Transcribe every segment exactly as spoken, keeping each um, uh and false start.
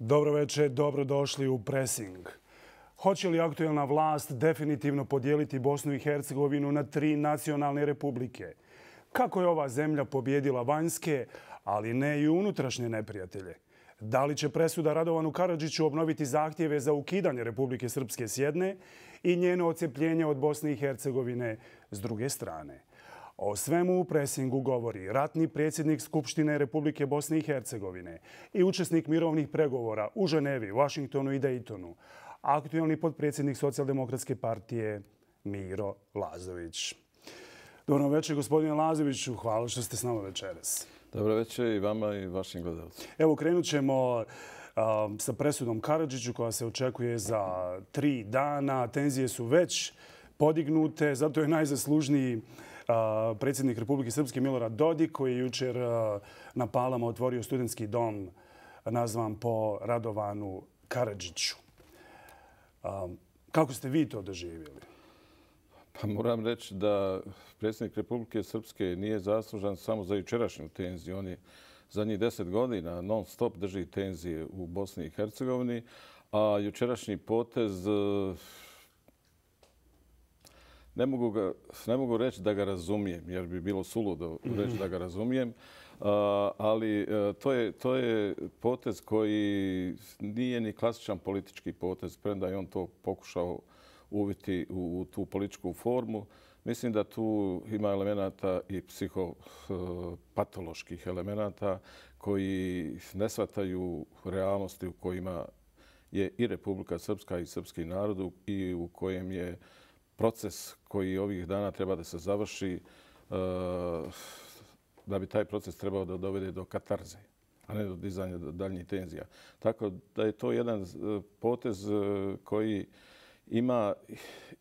Dobro večer, dobrodošli u Pressing. Hoće li aktuelna vlast definitivno podijeliti Bosnu i Hercegovinu na tri nacionalne republike? Kako je ova zemlja pobjedila vanjske, ali ne i unutrašnje neprijatelje? Da li će presuda Radovanu Karadžiću obnoviti zahtjeve za ukidanje Republike Srpske s jedne i njeno odcepljenje od Bosne i Hercegovine s druge strane? O svemu u Pressingu govori ratni predsjednik Skupštine Republike Bosne i Hercegovine i učesnik mirovnih pregovora u Ženevi, Vašingtonu i Dejtonu, aktuelni potpredsjednik Socijaldemokratske partije Miro Lazović. Dobro večer, gospodine Lazoviću. Hvala što ste s nama večeras. Dobro večer i vama i vašim gledalcima. Evo, krenut ćemo sa presudom Karadžiću koja se očekuje za tri dana. Tenzije su već podignute, zato je najzaslužniji predsjednik Republike Srpske Milorad Dodik, koji je jučer na Palama otvorio studentski dom nazvan po Radovanu Karadžiću. Kako ste vi to doživjeli? Pa moram reći da predsjednik Republike Srpske nije zaslužan samo za jučerašnju tenziju. On je zadnjih deset godina non stop drži tenzije u Bosni i Hercegovini, a jučerašnji potez ne mogu, ga, ne mogu reći da ga razumijem, jer bi bilo suludo reći da ga razumijem, ali to je, to je potez koji nije ni klasičan politički potez, premda je on to pokušao uviti u tu političku formu. Mislim da tu ima elemenata i psihopatoloških elemenata koji ne shvataju realnosti u kojima je i Republika Srpska i srpski narod i u kojem je proces koji ovih dana treba da se završi, da bi taj proces trebao da dovede do katarze, a ne do dizanja daljnjih tenzija. Tako da je to jedan potez koji ima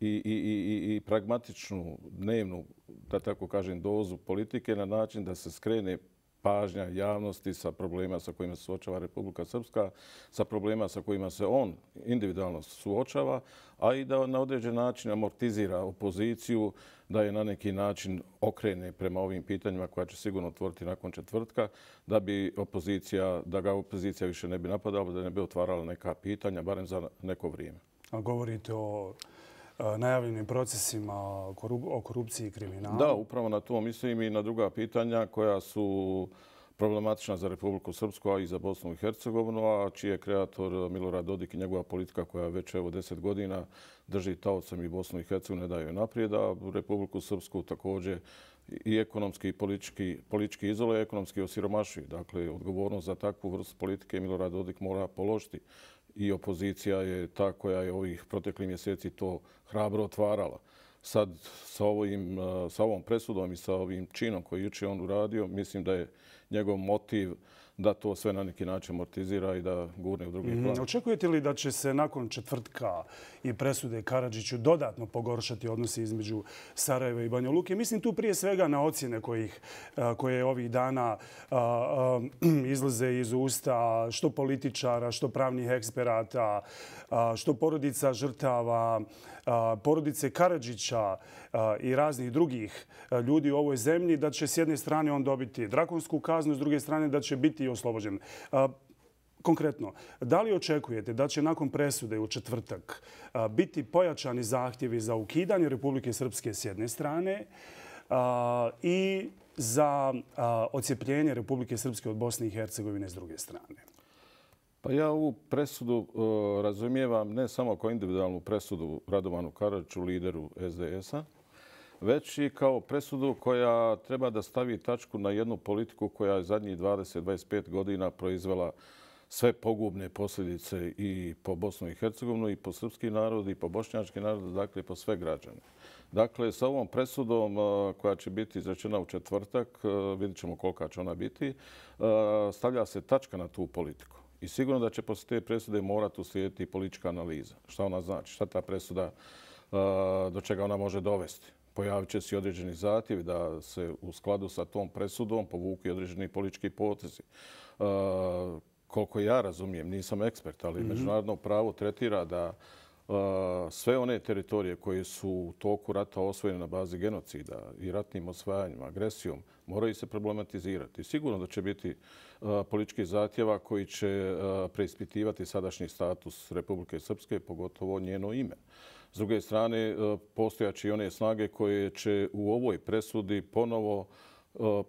i, i, i, i pragmatičnu dnevnu, da tako kažem, dozu politike na način da se skrene pažnja javnosti sa problema sa kojima se suočava Republika Srpska, sa problema sa kojima se on individualno suočava, a i da na određen način amortizira opoziciju, da je na neki način okrene prema ovim pitanjima koja će sigurno otvoriti nakon četvrtka, da bi opozicija, da ga opozicija više ne bi napadala, da ne bi otvarala neka pitanja, barem za neko vrijeme. A govorite o najavljenim procesima o korupciji i kriminalu? Da, upravo na to mislim i na druga pitanja koja su problematična za Republiku Srpsku, a i za Bosnu i Hercegovinu, a čiji je kreator Milorad Dodik i njegova politika koja već evo deset godina drži taocem i Bosnu i Hercegovinu, ne daju naprijed, a Republiku Srpsku također i ekonomski i politički, politički izoluje, ekonomski osiromašuje. Dakle, odgovornost za takvu vrstu politike Milorad Dodik mora položiti. I opozicija je ta koja je ovih proteklih mjeseci to hrabro otvarala. Sad sa, ovim, sa ovom presudom i sa ovim činom koji jučer on uradio, mislim da je njegov motiv da to sve na neki način amortizira i da gurne u drugi plan. Mm, očekujete li da će se nakon četvrtka i presude Karadžiću dodatno pogoršati odnosi između Sarajeva i Banja Luke? Mislim tu prije svega na ocjene kojih, koje ovih dana izlaze iz usta što političara, što pravnih eksperata, što porodica žrtava, porodice Karadžića i raznih drugih ljudi u ovoj zemlji, da će s jedne strane on dobiti drakonsku kaznu, s druge strane da će biti oslobođen. Konkretno, da li očekujete da će nakon presude u četvrtak biti pojačani zahtjevi za ukidanje Republike Srpske s jedne strane i za odcepljenje Republike Srpske od Bosne i Hercegovine s druge strane? Pa ja ovu presudu razumijevam ne samo kao individualnu presudu Radovanu Karadžiću, lideru es de es-a, već i kao presudu koja treba da stavi tačku na jednu politiku koja je zadnjih dvadeset do dvadeset pet godina proizvela sve pogubne posljedice i po Bosnu i Hercegovinu, i po srpski narod, i po bošnjački narod, dakle po sve građane. Dakle, sa ovom presudom koja će biti izrečena u četvrtak, vidjet ćemo kolika će ona biti, stavlja se tačka na tu politiku. I sigurno da će poslije te presude morati uslijediti politička analiza. Šta ona znači? Šta ta presuda, do čega ona može dovesti? Pojavit će se i određeni zahtjevi da se u skladu sa tom presudom povuku i određeni politički potezi. Koliko ja razumijem, nisam ekspert, ali međunarodno pravo tretira da sve one teritorije koje su u toku rata osvojene na bazi genocida i ratnim osvajanjima, agresijom, moraju se problematizirati. Sigurno da će biti političkih zahtjeva koji će preispitivati sadašnji status Republike Srpske, pogotovo njeno ime. S druge strane, postojaće i one snage koje će u ovoj presudi ponovo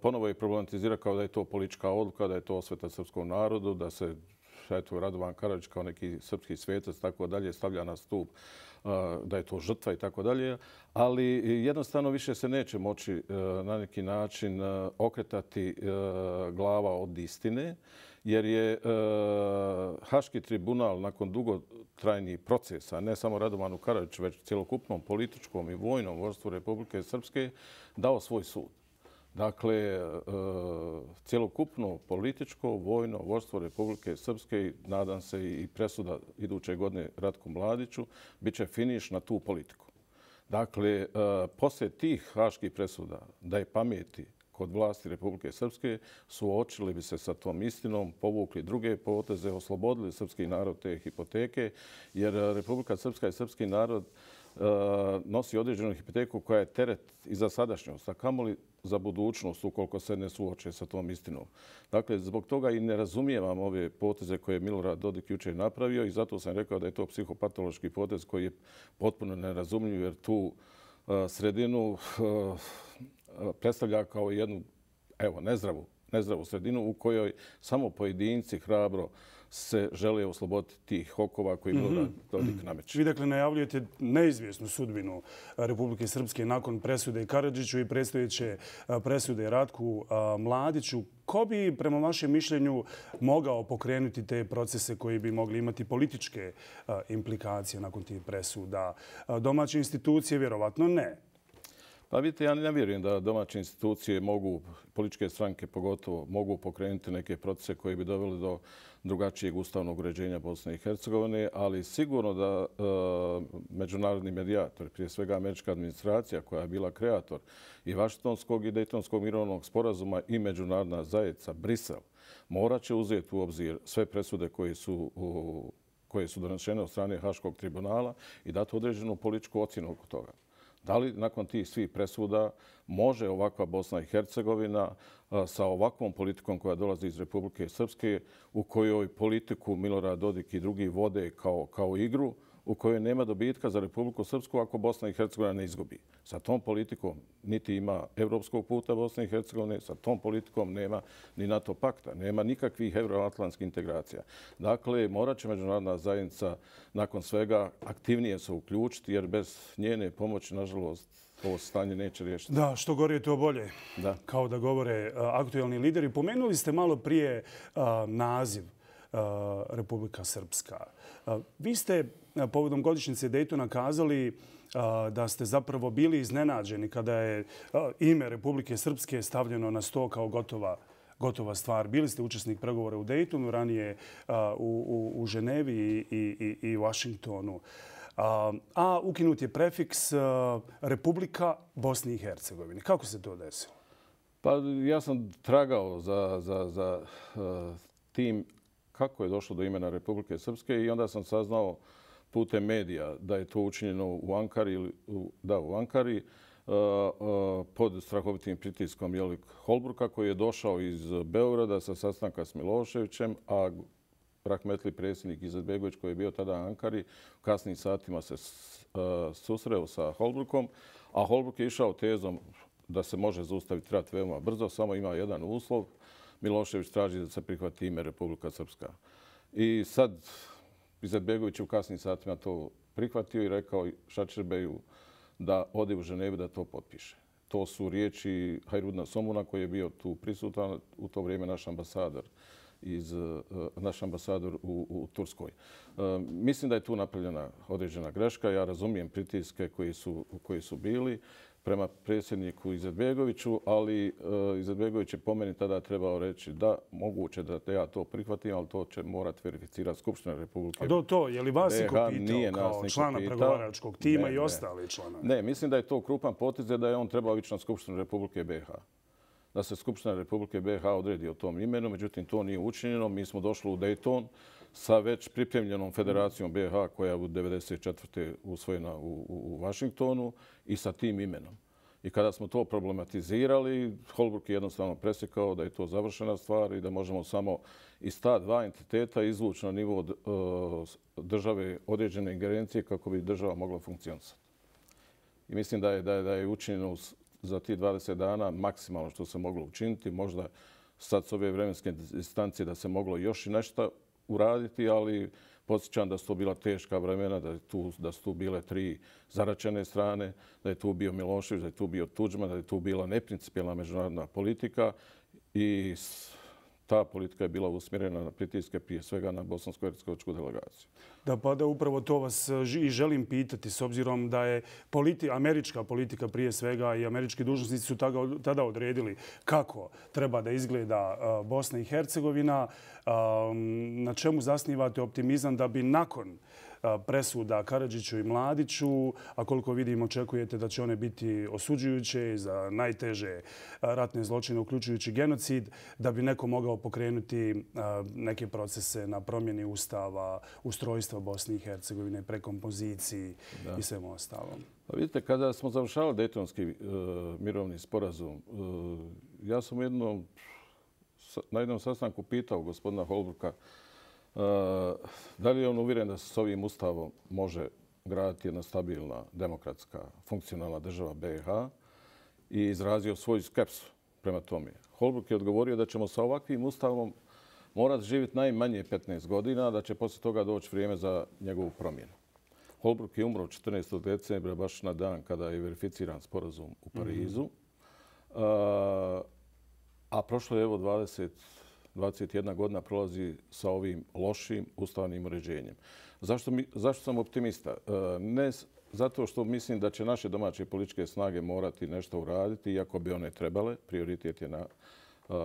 ponovo je problematizirati kao da je to politička odluka, da je to osveta srpskom narodu, da se eto, Radovan Karadžić kao neki srpski svetac tako dalje stavlja na stup, da je to žrtva i tako dalje. Ali jednostavno više se neće moći na neki način okretati glava od istine, jer je Haški tribunal nakon dugotrajnih procesa, ne samo Radovanu Karadžiću, već cjelokupnom političkom i vojnom vodstvu Republike Srpske, dao svoj sud. Dakle, cjelokupno političko, vojno vodstvo Republike Srpske, nadam se i presuda iduće godine Ratku Mladiću, bit će finiš na tu politiku. Dakle, poslije tih haških presuda, da je pameti kod vlasti Republike Srpske, suočili bi se sa tom istinom, povukli druge poteze, oslobodili srpski narod te hipoteke, jer Republika Srpska i srpski narod nosi određenu hipoteku koja je teret i za sadašnjost, a kamoli za budućnost ukoliko se ne suoče sa tom istinom. Dakle, zbog toga i ne razumijevam ove poteze koje je Milorad Dodik jučer napravio i zato sam rekao da je to psihopatološki potez koji je potpuno nerazumljiv jer tu sredinu predstavlja kao jednu evo, nezdravu, nezdravu sredinu u kojoj samo pojedinci hrabro se žele osloboditi tih okova koji Milorad Dodik nameće. Vi dakle najavljujete neizvjesnu sudbinu Republike Srpske nakon presude Karadžiću i predstojeće presude Ratku Mladiću. Ko bi, prema vašem mišljenju, mogao pokrenuti te procese koji bi mogli imati političke implikacije nakon tih presuda? Domaće institucije vjerovatno ne. Pa vidite, ja ne vjerujem da domaće institucije mogu, političke stranke pogotovo, mogu pokrenuti neke procese koji bi doveli do drugačijeg ustavnog uređenja Bosne i Hercegovine, ali sigurno da e, međunarodni medijator, prije svega američka administracija koja je bila kreator i Vašingtonskog i Dejtonskog mirovnog sporazuma i međunarodna zajednica Brisel, morat će uzeti u obzir sve presude koje su u, koje su donesene od strane Haškog tribunala i dati određenu političku ocjenu oko toga. Da li nakon tih svih presuda može ovakva Bosna i Hercegovina sa ovakvom politikom koja dolazi iz Republike Srpske, u kojoj politiku Milorad Dodik i drugi vode kao, kao igru, u kojoj nema dobitka za Republiku Srpsku ako Bosna i Hercegovina ne izgubi. Sa tom politikom niti ima evropskog puta Bosne i Hercegovine, sa tom politikom nema ni NATO pakta, nema nikakvih euroatlantskih integracija. Dakle, morat će međunarodna zajednica nakon svega aktivnije se uključiti, jer bez njene pomoći, nažalost, ovo stanje neće riješiti. Da, što gore to bolje, da. Kao da govore aktuelni lideri. Pomenuli ste malo prije naziv Republika Srpska. Vi ste povodom godišnjice Dejtona kazali da ste zapravo bili iznenađeni kada je ime Republike Srpske stavljeno na sto kao gotova, gotova stvar. Bili ste učesnik pregovora u Dejtonu, ranije u, u, u Ženevi i, i, i u Washingtonu. A ukinut je prefiks Republika Bosni i Hercegovine. Kako se to desilo? Pa ja sam tragao za, za, za tim kako je došlo do imena Republike Srpske i onda sam saznao putem medija da je to učinjeno u Ankari, da, u Ankari pod strahovitim pritiskom Jelik Holbruka koji je došao iz Beograda sa sastanka s Miloševićem, a rahmetli predsjednik Izetbegović koji je bio tada u Ankari u kasnim satima se susreo sa Holbrukom, a Holbruk je išao tezom da se može zaustaviti rat veoma brzo, samo ima jedan uslov. Milošević traži da se prihvati ime Republika Srpska. I sad Izetbegović u kasnim satima to prihvatio i rekao Šačerbeju da ode u Ženevu da to potpiše. To su riječi Hajrudna Somuna koji je bio tu prisutan u to vrijeme naš ambasador iz naš ambasador u, u Turskoj. E, mislim da je tu napravljena određena greška. Ja razumijem pritiske koji su, koji su bili prema predsjedniku Izetbegoviću, ali uh, Izetbegović je po meni tada trebao reći da moguće da ja to prihvatim, ali to će morati verificirati Skupština Republike. A do to, je li vas iko pitao nije kao člana pregovaračkog tima ne, i ostali članovi? Ne, mislim da je to krupan potez da je on trebao ići na Skupštinu Republike B i H. Da se Skupština Republike B i H odredi o tom imenu, međutim to nije učinjeno. Mi smo došli u Dejton sa već pripremljenom Federacijom B iH koja je u devedeset četvrte usvojena u, u, u Vašingtonu i sa tim imenom. I kada smo to problematizirali, Holbrooke je jednostavno presjekao da je to završena stvar i da možemo samo iz ta dva entiteta izvući na nivo države određene ingerencije kako bi država mogla funkcionisati. I mislim da je, da je, da je učinjeno za tih dvadeset dana maksimalno što se moglo učiniti. Možda sad s ove vremenske distancije da se moglo još i nešto uraditi, ali podsjećam da su to bila teška vremena, da, je tu, da su tu bile tri zaračene strane, da je tu bio Milošević, da je tu bio Tudžman, da je tu bila neprincipijelna međunarodna politika i ta politika je bila usmjerena na pritiske, prije svega na bosansko-hercegovačku delegaciju. Da, pa da upravo to vas i želim pitati, s obzirom da je politi, američka politika prije svega i američki dužnosnici su tada, tada odredili kako treba da izgleda uh, Bosna i Hercegovina. Um, na čemu zasnivate optimizam da bi nakon presuda Karadžiću i Mladiću, a koliko vidim očekujete da će one biti osuđujuće za najteže ratne zločine, uključujući genocid, da bi neko mogao pokrenuti neke procese na promjeni ustava, ustrojstva Bosne i Hercegovine, prekompoziciji da. I svemu ostalom. Pa vidite, kada smo završavali Dejtonski uh, mirovni sporazum, uh, ja sam jednom, na jednom sastanku pitao gospodina Holbrooka Uh, da li je on uvjeren da se s ovim ustavom može graditi jedna stabilna, demokratska, funkcionalna država B iH i izrazio svoju skepsu prema tome. Holbrooke je odgovorio da ćemo sa ovakvim ustavom morati živjeti najmanje petnaest godina, da će poslije toga doći vrijeme za njegovu promjenu. Holbrooke je umro četrnaestog decembra, baš na dan kada je verificiran sporazum u Parizu. Mm-hmm. uh, a prošlo je evo dvadeset dvadeset jedna godina prolazi sa ovim lošim ustavnim uređenjem. Zašto, mi, zašto sam optimista? Ne zato što mislim da će naše domaće političke snage morati nešto uraditi, iako bi one trebale. Prioritet je na,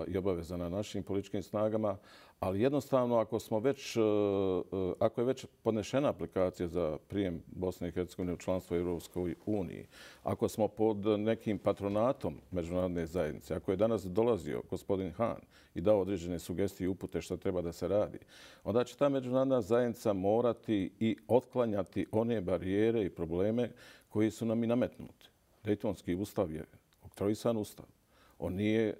i obaveza na našim političkim snagama. Ali jednostavno, ako, smo već, ako je već podnešena aplikacija za prijem Bosne i Hercegovine u članstvo Europskoj uniji, ako smo pod nekim patronatom međunarodne zajednice, ako je danas dolazio gospodin Hahn i dao određene sugestije i upute što treba da se radi, onda će ta međunarodna zajednica morati i otklanjati one barijere i probleme koji su nam i nametnuti. Dejtonski ustav je oktroisan ustav. On nije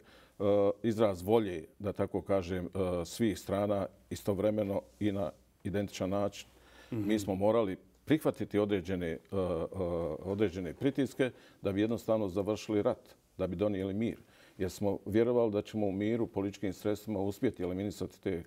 izraz volje, da tako kažem, svih strana istovremeno i na identičan način. Mm-hmm. Mi smo morali prihvatiti određene, određene pritiske da bi jednostavno završili rat, da bi donijeli mir. Jer smo vjerovali da ćemo u miru političkim sredstvima uspjeti eliminisati te,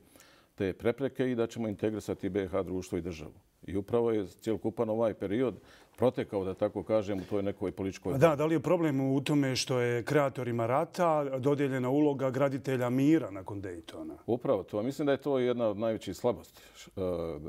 te prepreke i da ćemo integrisati B iH društvo i državu. I upravo je cijelokupan ovaj period protekao, da tako kažem, u toj nekoj političkoj... Da, da li je problem u tome što je kreatorima rata dodijeljena uloga graditelja mira nakon Dejtona? Upravo to. Mislim da je to jedna od najvećih slabosti.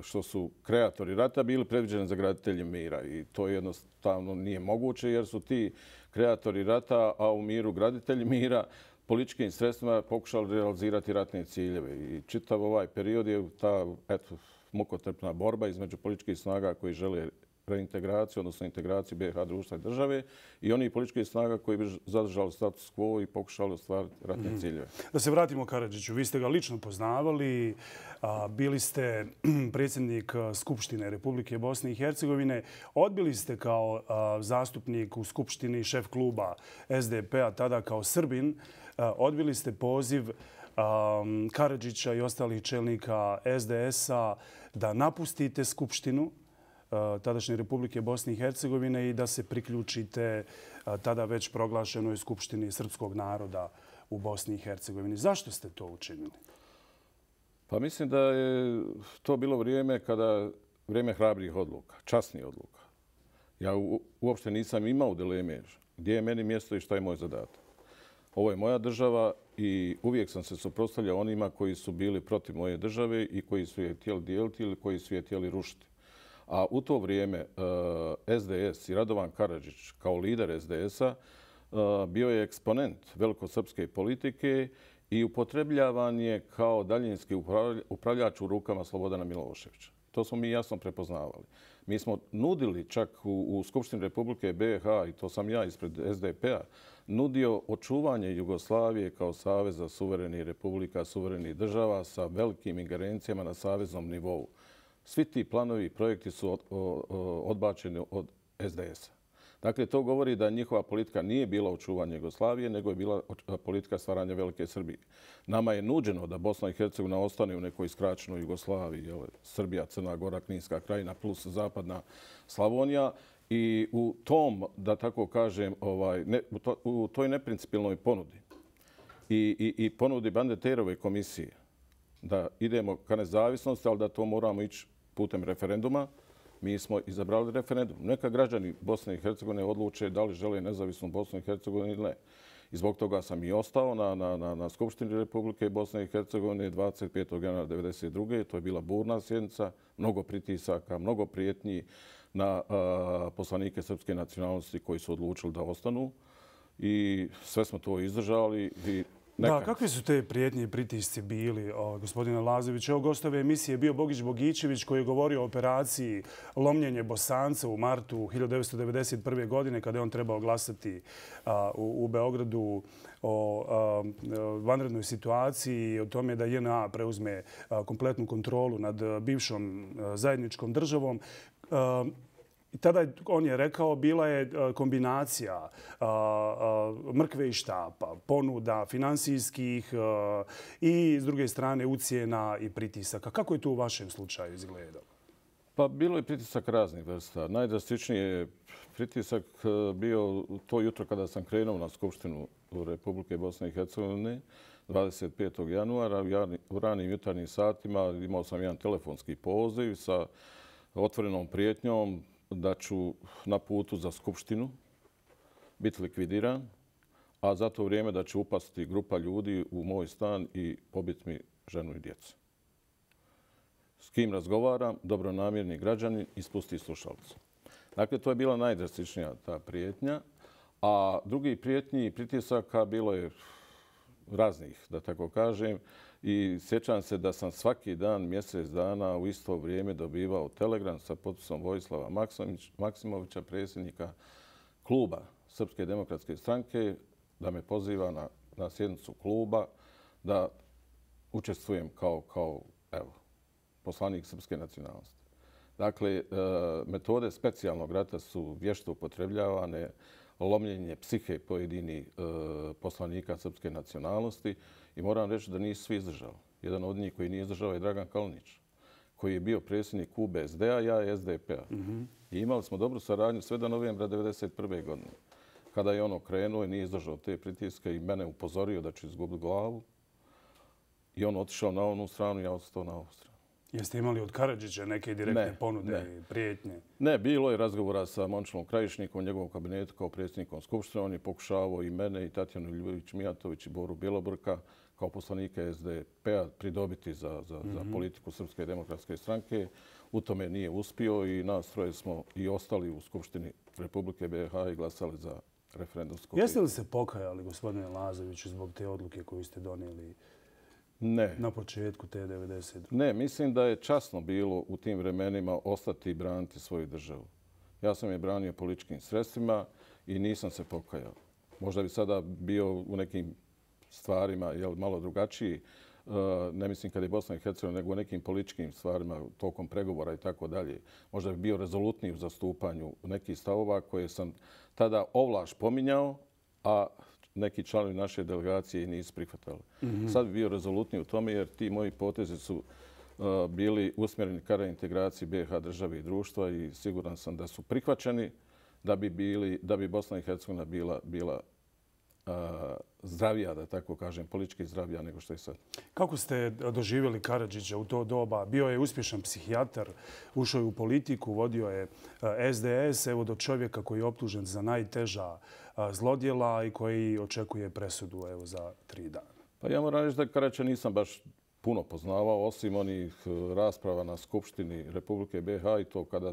Što su kreatori rata bili predviđeni za graditelje mira. I to jednostavno nije moguće jer su ti kreatori rata, a u miru graditelji mira, političkim sredstvima pokušali realizirati ratne ciljeve. I čitav ovaj period je ta, eto, mukotrpna borba između političkih snaga koji žele reintegraciju, odnosno integraciju B iH društva i države i oni političkih snaga koji bi zadržali status quo i pokušali ostvariti ratne mm. ciljeve. Da se vratimo Karadžiću, vi ste ga lično poznavali, bili ste predsjednik Skupštine Republike Bosne i Hercegovine, odbili ste kao zastupnik u Skupštini, šef kluba S D P-a, tada kao Srbin, odbili ste poziv Karadžića i ostalih čelnika S D S-a da napustite Skupštinu tadašnje Republike Bosne i Hercegovine i da se priključite tada već proglašenoj Skupštini srpskog naroda u Bosni i Hercegovini. Zašto ste to učinili? Pa mislim da je to bilo vrijeme kada vrijeme hrabrih odluka, časnih odluka. Ja u, uopšte nisam imao dileme gdje je meni mjesto i šta je moj zadatak. Ovo je moja država i uvijek sam se suprotstavljao onima koji su bili protiv moje države i koji su je htjeli dijeliti ili koji su je htjeli rušiti. A u to vrijeme S D S i Radovan Karadžić kao lider S D S-a bio je eksponent velikosrpske politike i upotrebljavan je kao daljinski upravljač u rukama Slobodana Miloševića. To smo mi jasno prepoznavali. Mi smo nudili čak u, u Skupštini Republike B i H, i to sam ja ispred S D P-a, nudio očuvanje Jugoslavije kao saveza suverenih republika, suverenih država sa velikim ingerencijama na saveznom nivou. Svi ti planovi i projekti su od, od, odbačeni od S D S-a. Dakle, to govori da njihova politika nije bila očuvanje Jugoslavije, nego je bila politika stvaranja Velike Srbije. Nama je nuđeno da Bosna i Hercegovina ostane u nekoj skraćenoj Jugoslaviji, jel, Srbija, Crna Gora, Kninska krajina plus zapadna Slavonija. I u tom, da tako kažem, ovaj, ne, u, to, u toj neprincipilnoj ponudi i, i, i ponudi Bandeterove komisije da idemo ka nezavisnosti, ali da to moramo ići putem referenduma, mi smo izabrali referendum. Neka građani Bosne i Hercegovine odluče da li žele nezavisnu Bosnu i Hercegovinu ili ne. I zbog toga sam i ostao na, na, na, na Skupštini Republike Bosne i Hercegovine dvadeset petog januara devedeset druge To je bila burna sjednica, mnogo pritisaka, mnogo prijetnji na a, poslanike srpske nacionalnosti koji su odlučili da ostanu. I sve smo to izdržali. I neka... Da, kakve su te prijetnje i pritisci bili, o, gospodine Lazović? Evo, gostove emisije je bio Bogić Bogićević koji je govorio o operaciji Lomljenje Bosanca u martu hiljadu devetsto devedeset prve. godine kada je on trebao glasati a, u, u Beogradu o a, vanrednoj situaciji i o tome da J N A preuzme a, kompletnu kontrolu nad bivšom a, zajedničkom državom. A, I tada je, on je rekao, bila je kombinacija a, a, mrkve i štapa, ponuda finansijskih a, i s druge strane ucjena i pritisaka. Kako je to u vašem slučaju izgledalo? Pa bilo je pritisak raznih vrsta. Najdrastičniji je pritisak bio to jutro kada sam krenuo na Skupštinu Republike Bosne i Hercegovine dvadeset petog januara u ranim jutarnjim satima. Imao sam jedan telefonski poziv sa otvorenom prijetnjom da ću na putu za Skupštinu biti likvidiran, a za to vrijeme da će upasti grupa ljudi u moj stan i pobiti mi ženu i djecu. S kim razgovaram, dobronamjerni građanin, ispusti slušalicu. Dakle, to je bila najdrastičnija ta prijetnja, a drugi prijetnji i pritisaka bilo je raznih, da tako kažem. I sjećam se da sam svaki dan, mjesec dana u isto vrijeme dobivao telegram sa potpisom Vojislava Maksimovića, predsjednika kluba Srpske demokratske stranke, da me poziva na, na sjednicu kluba da učestvujem kao, kao evo, poslanik srpske nacionalnosti. Dakle, metode specijalnog rata su vješto upotrebljavane, lomljenje psihe pojedinih poslanika srpske nacionalnosti. I moram reći da nisu svi izdržali. Jedan od njih koji nije izdržao je Dragan Kalinić, koji je bio predsjednik U B S D-a, ja S D P-a. Mm-hmm. I imali smo dobru saradnju sve do novembra devedeset prve. godine. Kada je on okrenuo i nije izdržao te pritiske i mene upozorio da ću izgubiti glavu. I on otišao na onu stranu i ja ostao na ovu stranu. Jeste imali od Karadžića neke direktne ne, ponude ne. i prijetnje? Ne, bilo je razgovora sa Momčilom Krajišnikom u njegovom kabinetu kao predsjednikom Skupštine. On je pokušavao i mene, i Tatjanu Ljubović-Mijatović, i Boru Bjelobrka kao poslanike S D P-a pridobiti za, za, mm-hmm. za politiku Srpske demokratske stranke. U tome nije uspio i nas troje smo i ostali u Skupštini Republike B i H i glasali za referendumsko. Jeste li se pokajali, gospodine Lazoviću, zbog te odluke koju ste donijeli ne. na početku te devedeset? Ne, mislim da je časno bilo u tim vremenima ostati i braniti svoju državu. Ja sam je branio političkim sredstvima i nisam se pokajao. Možda bi sada bio u nekim stvarima jel, malo drugačiji, ne mislim kad je Bosna i Hercegovina, nego u nekim političkim stvarima, tokom pregovora i tako dalje. Možda bi bio rezolutniji u zastupanju nekih stavova koje sam tada ovlaš pominjao, a neki članovi naše delegacije nisu prihvatali. Mm-hmm. Sad bi bio rezolutniji u tome jer ti moji potezi su uh, bili usmjereni ka reintegraciji B i H države i društva i siguran sam da su prihvaćeni da bi, bili, da bi Bosna i Hercegovina bila, bila uh, zdravija, da tako kažem, politički zdravija nego što je sad. Kako ste doživjeli Karadžića u to doba? Bio je uspješan psihijatar, ušao je u politiku, vodio je S D S, evo do čovjeka koji je optužen za najteža zlodjela i koji očekuje presudu evo za tri dana. Pa ja moram reći da Karadžića nisam baš puno poznavao, osim onih rasprava na Skupštini Republike B i H i to kada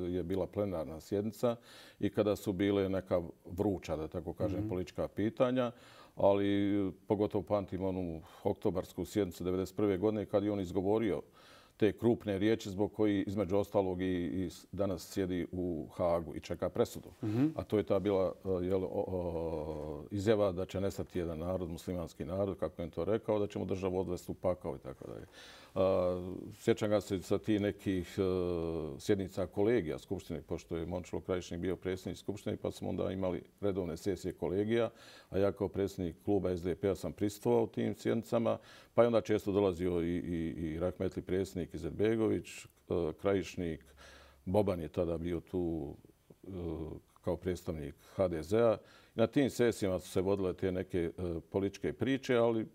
je bila plenarna sjednica i kada su bile neka vruća, da tako kažem, mm-hmm. politička pitanja, ali pogotovo pamtim onu oktobarsku sjednicu devedeset prve. godine kad je on izgovorio te krupne riječi zbog koji između ostalog i, i danas sjedi u Hagu i čeka presudu. Mm-hmm. A to je ta bila jel, o, o, izjava da će nestati jedan narod, muslimanski narod, kako je to rekao, da će mu državu odvesti u pakao i tako dalje. Sjećam ga se sa tih nekih uh, sjednica kolegija Skupštine, pošto je Momčilo Krajišnik bio predsjednik Skupštine, pa smo onda imali redovne sesije kolegija, a ja kao predsjednik kluba es de pe-a sam prisustvovao u tim sjednicama, pa je onda često dolazio i, i, i rahmetli predsjednik Izetbegović, uh, Krajišnik, Boban je tada bio tu uh, kao predstavnik ha de zea. Na tim sesijama su se vodile te neke uh, političke priče, ali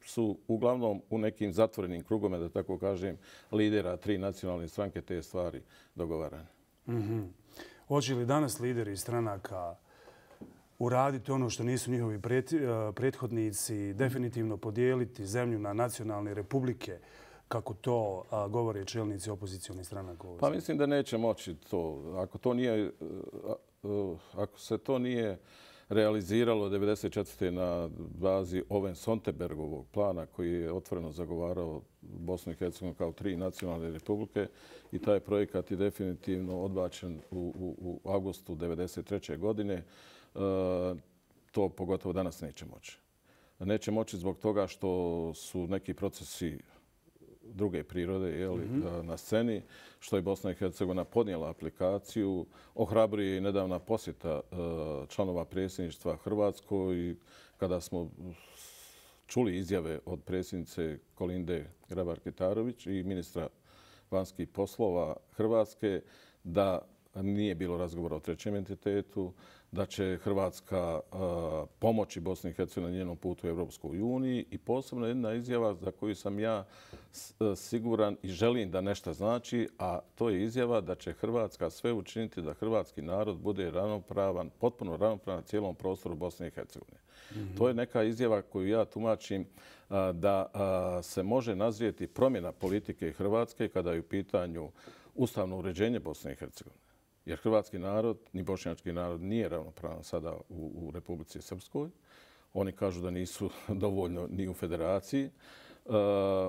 su uglavnom u nekim zatvorenim krugome, da tako kažem, lidera tri nacionalne stranke te stvari dogovarane. Mm-hmm. Hoće li danas lideri stranaka uraditi ono što nisu njihovi prethodnici, definitivno podijeliti zemlju na nacionalne republike, kako to a, govore čelnici opozicionih stranaka? Pa mislim da neće moći to. Ako, to nije, ako se to nije realiziralo devedeset četvrte na bazi Owen-Sonterbergovog plana koji je otvoreno zagovarao Bosnu i Hercegovinu kao tri nacionalne republike i taj projekat je definitivno odbačen u, u, u avgustu devedeset treće godine. E, to pogotovo danas neće moći. Neće moći zbog toga što su neki procesi druge prirode jeli, mm-hmm. na sceni, što je Bosna i Hercegovina podnijela aplikaciju. Ohrabruje i nedavna posjeta članova predsjedništva Hrvatskoj kada smo čuli izjave od predsjednice Kolinde Grabar-Kitarović i ministra vanjskih poslova Hrvatske da nije bilo razgovora o trećem entitetu, da će Hrvatska uh, pomoći Bosni i Hercegovini na njenom putu u Europskoj uniji i posebno jedna izjava za koju sam ja siguran i želim da nešto znači, a to je izjava da će Hrvatska sve učiniti da hrvatski narod bude ravnopravan, potpuno ravnopravan na cijelom prostoru Bosne i Hercegovine. Mm-hmm. To je neka izjava koju ja tumačim uh, da uh, se može nazrijeti promjena politike Hrvatske kada je u pitanju ustavno uređenje Bosne i Hercegovine. Jer hrvatski narod, ni bošnjački narod, nije ravnopravan sada u, u Republici Srpskoj. Oni kažu da nisu dovoljno ni u federaciji. E,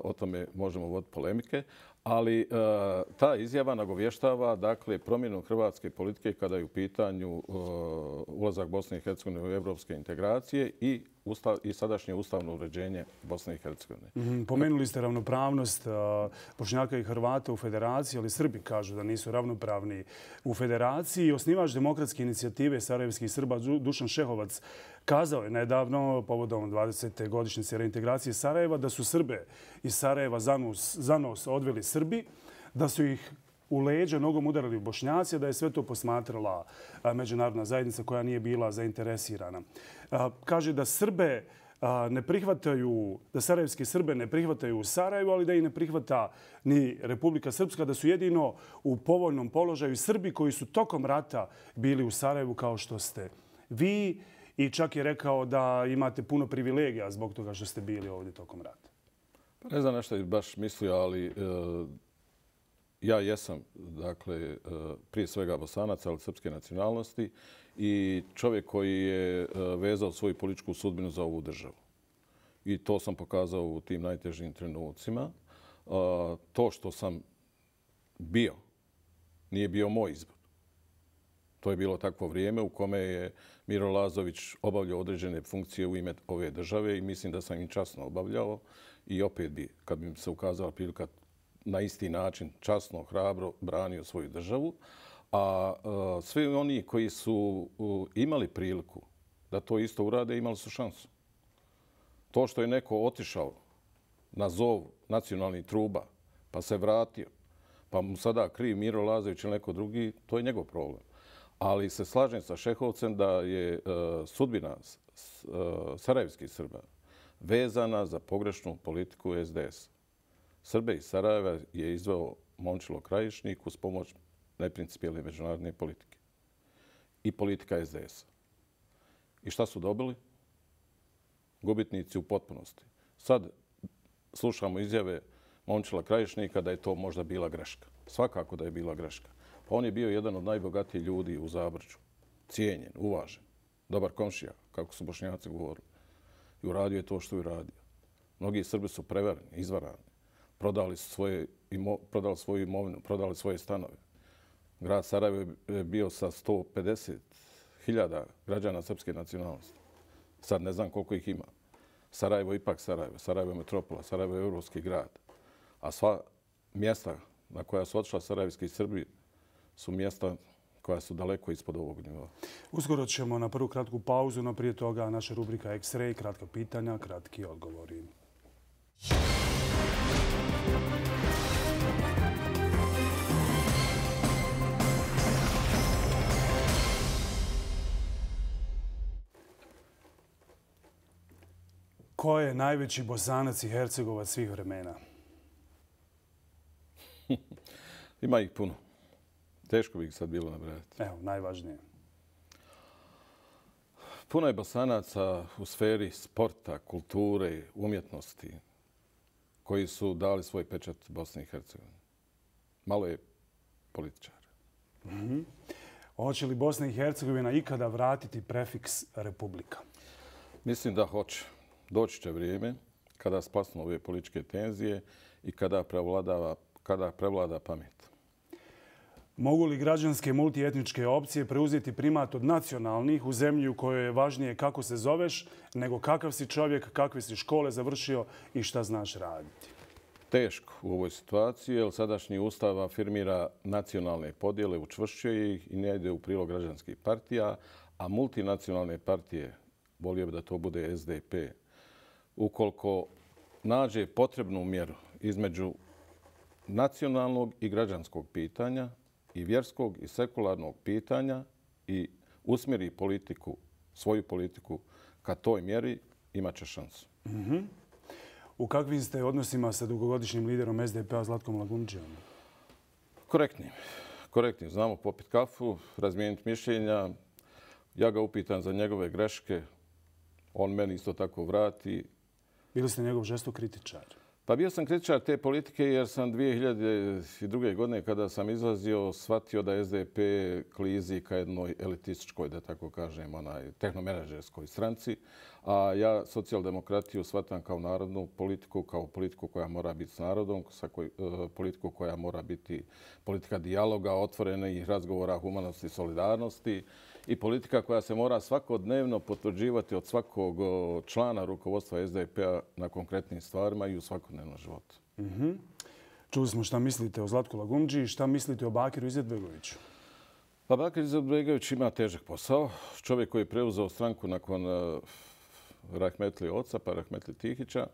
o tome možemo voditi polemike. Ali e, ta izjava nagovještava dakle, promjenu hrvatske politike kada je u pitanju e, ulazak Bosne i Hercegovine u evropske integracije i, ustav, i sadašnje ustavno uređenje Bosne i Hercegovine. Mm-hmm. Pomenuli ste ravnopravnost uh, Bošnjaka i Hrvata u federaciji, ali Srbi kažu da nisu ravnopravni u federaciji. Osnivač demokratske inicijative sarajevskih Srba Dušan Šehovac kazao je nedavno povodom dvadesete godišnjice reintegracije Sarajeva da su Srbe iz Sarajeva za nos, za nos odveli Srbi, da su ih u leđa nogom udarali Bošnjaci, da je sve to posmatrala međunarodna zajednica koja nije bila zainteresirana. Kaže da Srbe ne prihvataju, da sarajevske Srbe ne prihvataju u Sarajevu, ali da ih ne prihvata ni Republika Srpska, da su jedino u povoljnom položaju Srbi koji su tokom rata bili u Sarajevu kao što ste vi i čak je rekao da imate puno privilegija zbog toga što ste bili ovdje tokom rata. Ne znam nešto je baš mislio, ali e, ja jesam, dakle, e, prije svega Bosanac, ali srpske nacionalnosti i čovjek koji je e, vezao svoju političku sudbinu za ovu državu. I to sam pokazao u tim najtežim trenucima. E, to što sam bio, nije bio moj izbor. To je bilo takvo vrijeme u kome je Miro Lazović obavljao određene funkcije u ime ove države i mislim da sam im časno obavljao. I opet bi, kad bi se ukazala prilika, na isti način časno, hrabro branio svoju državu. A uh, svi oni koji su uh, imali priliku da to isto urade, imali su šansu. To što je neko otišao na zov nacionalnih truba, pa se vratio, pa mu sada kriv Miro Lazović ili neko drugi, to je njegov problem. Ali se slažem sa Šehovcem da je uh, sudbina uh, sarajevskih Srba vezana za pogrešnu politiku es de es. Srbe iz Sarajeva je izveo Momčilo Krajišnik uz pomoć neprincipijelne međunarodne politike i politika es de es. I šta su dobili? Gubitnici u potpunosti. Sad slušamo izjave Momčila Krajišnika da je to možda bila greška. Svakako da je bila greška. Pa on je bio jedan od najbogatijih ljudi u Zabrđu. Cijenjen, uvažen, dobar komšija, kako su Bošnjaci govorili. I uradio je to što je uradio. Mnogi Srbi su prevareni, izvarani, prodali, svoje, imo, prodali svoju imovinu, prodali svoje stanove. Grad Sarajevo je bio sa sto pedeset hiljada građana srpske nacionalnosti. Sad ne znam koliko ih ima. Sarajevo je ipak Sarajevo. Sarajevo je metropola, Sarajevo je evropski grad. A sva mjesta na koja su otišla sarajevski Srbi su mjesta koja su daleko ispod ovog nivoa. Uskoro ćemo na prvu kratku pauzu, no prije toga naša rubrika X-ray, kratka pitanja, kratki odgovori. Ko je najveći Bosanac i Hercegovac svih vremena? Ima ih puno. Teško bi ih sad bilo nabrajati. Evo, najvažnije. Puno je Bosanaca u sferi sporta, kulture, umjetnosti koji su dali svoj pečat Bosni i Hercegovini. Malo je političara. Mm-hmm. Hoće li Bosna i Hercegovina ikada vratiti prefiks republika? Mislim da hoće. Doći će vrijeme kada splasnu ove političke tenzije i kada prevladava, kada prevlada pamet. Mogu li građanske multietničke opcije preuzeti primat od nacionalnih u zemlji u kojoj je važnije kako se zoveš nego kakav si čovjek, kakve si škole završio i šta znaš raditi? Teško u ovoj situaciji, jer sadašnji ustav afirmira nacionalne podjele, učvršćuje ih i ne ide u prilog građanskih partija, a multinacionalne partije, volio bi da to bude S D P, ukoliko nađe potrebnu mjeru između nacionalnog i građanskog pitanja i vjerskog i sekularnog pitanja i usmjeri politiku, svoju politiku ka toj mjeri, imat će šansu. Mm-hmm. U kakvim ste odnosima sa dugogodišnjim liderom S D P-a Zlatkom Lagundžijom? Korektnim. Korektnim. Znamo popiti kafu, razmijeniti mišljenja. Ja ga upitam za njegove greške. On meni isto tako vrati. Bili ste njegov žestok kritičar? Pa bio sam kritičar te politike jer sam dvije hiljade druge. godine kada sam izlazio shvatio da S D P klizi ka jednoj elitističkoj, da tako kažem, onaj tehnomenadžerskoj stranci, a ja socijaldemokratiju shvatam kao narodnu politiku, kao politiku koja mora biti s narodom, sa koj, politiku koja mora biti politika dijaloga, otvorenih razgovora, humanosti, solidarnosti i politika koja se mora svakodnevno potvrđivati od svakog člana rukovodstva S D P-a na konkretnim stvarima i u svakodnevnom životu. Mm-hmm. Čuli smo šta mislite o Zlatku Lagundžiji, šta mislite o Bakiru Izetbegoviću? Pa Bakir Izetbegović ima težak posao. Čovjek koji je preuzeo stranku nakon uh, Rahmetli oca, pa Rahmetli Tihića.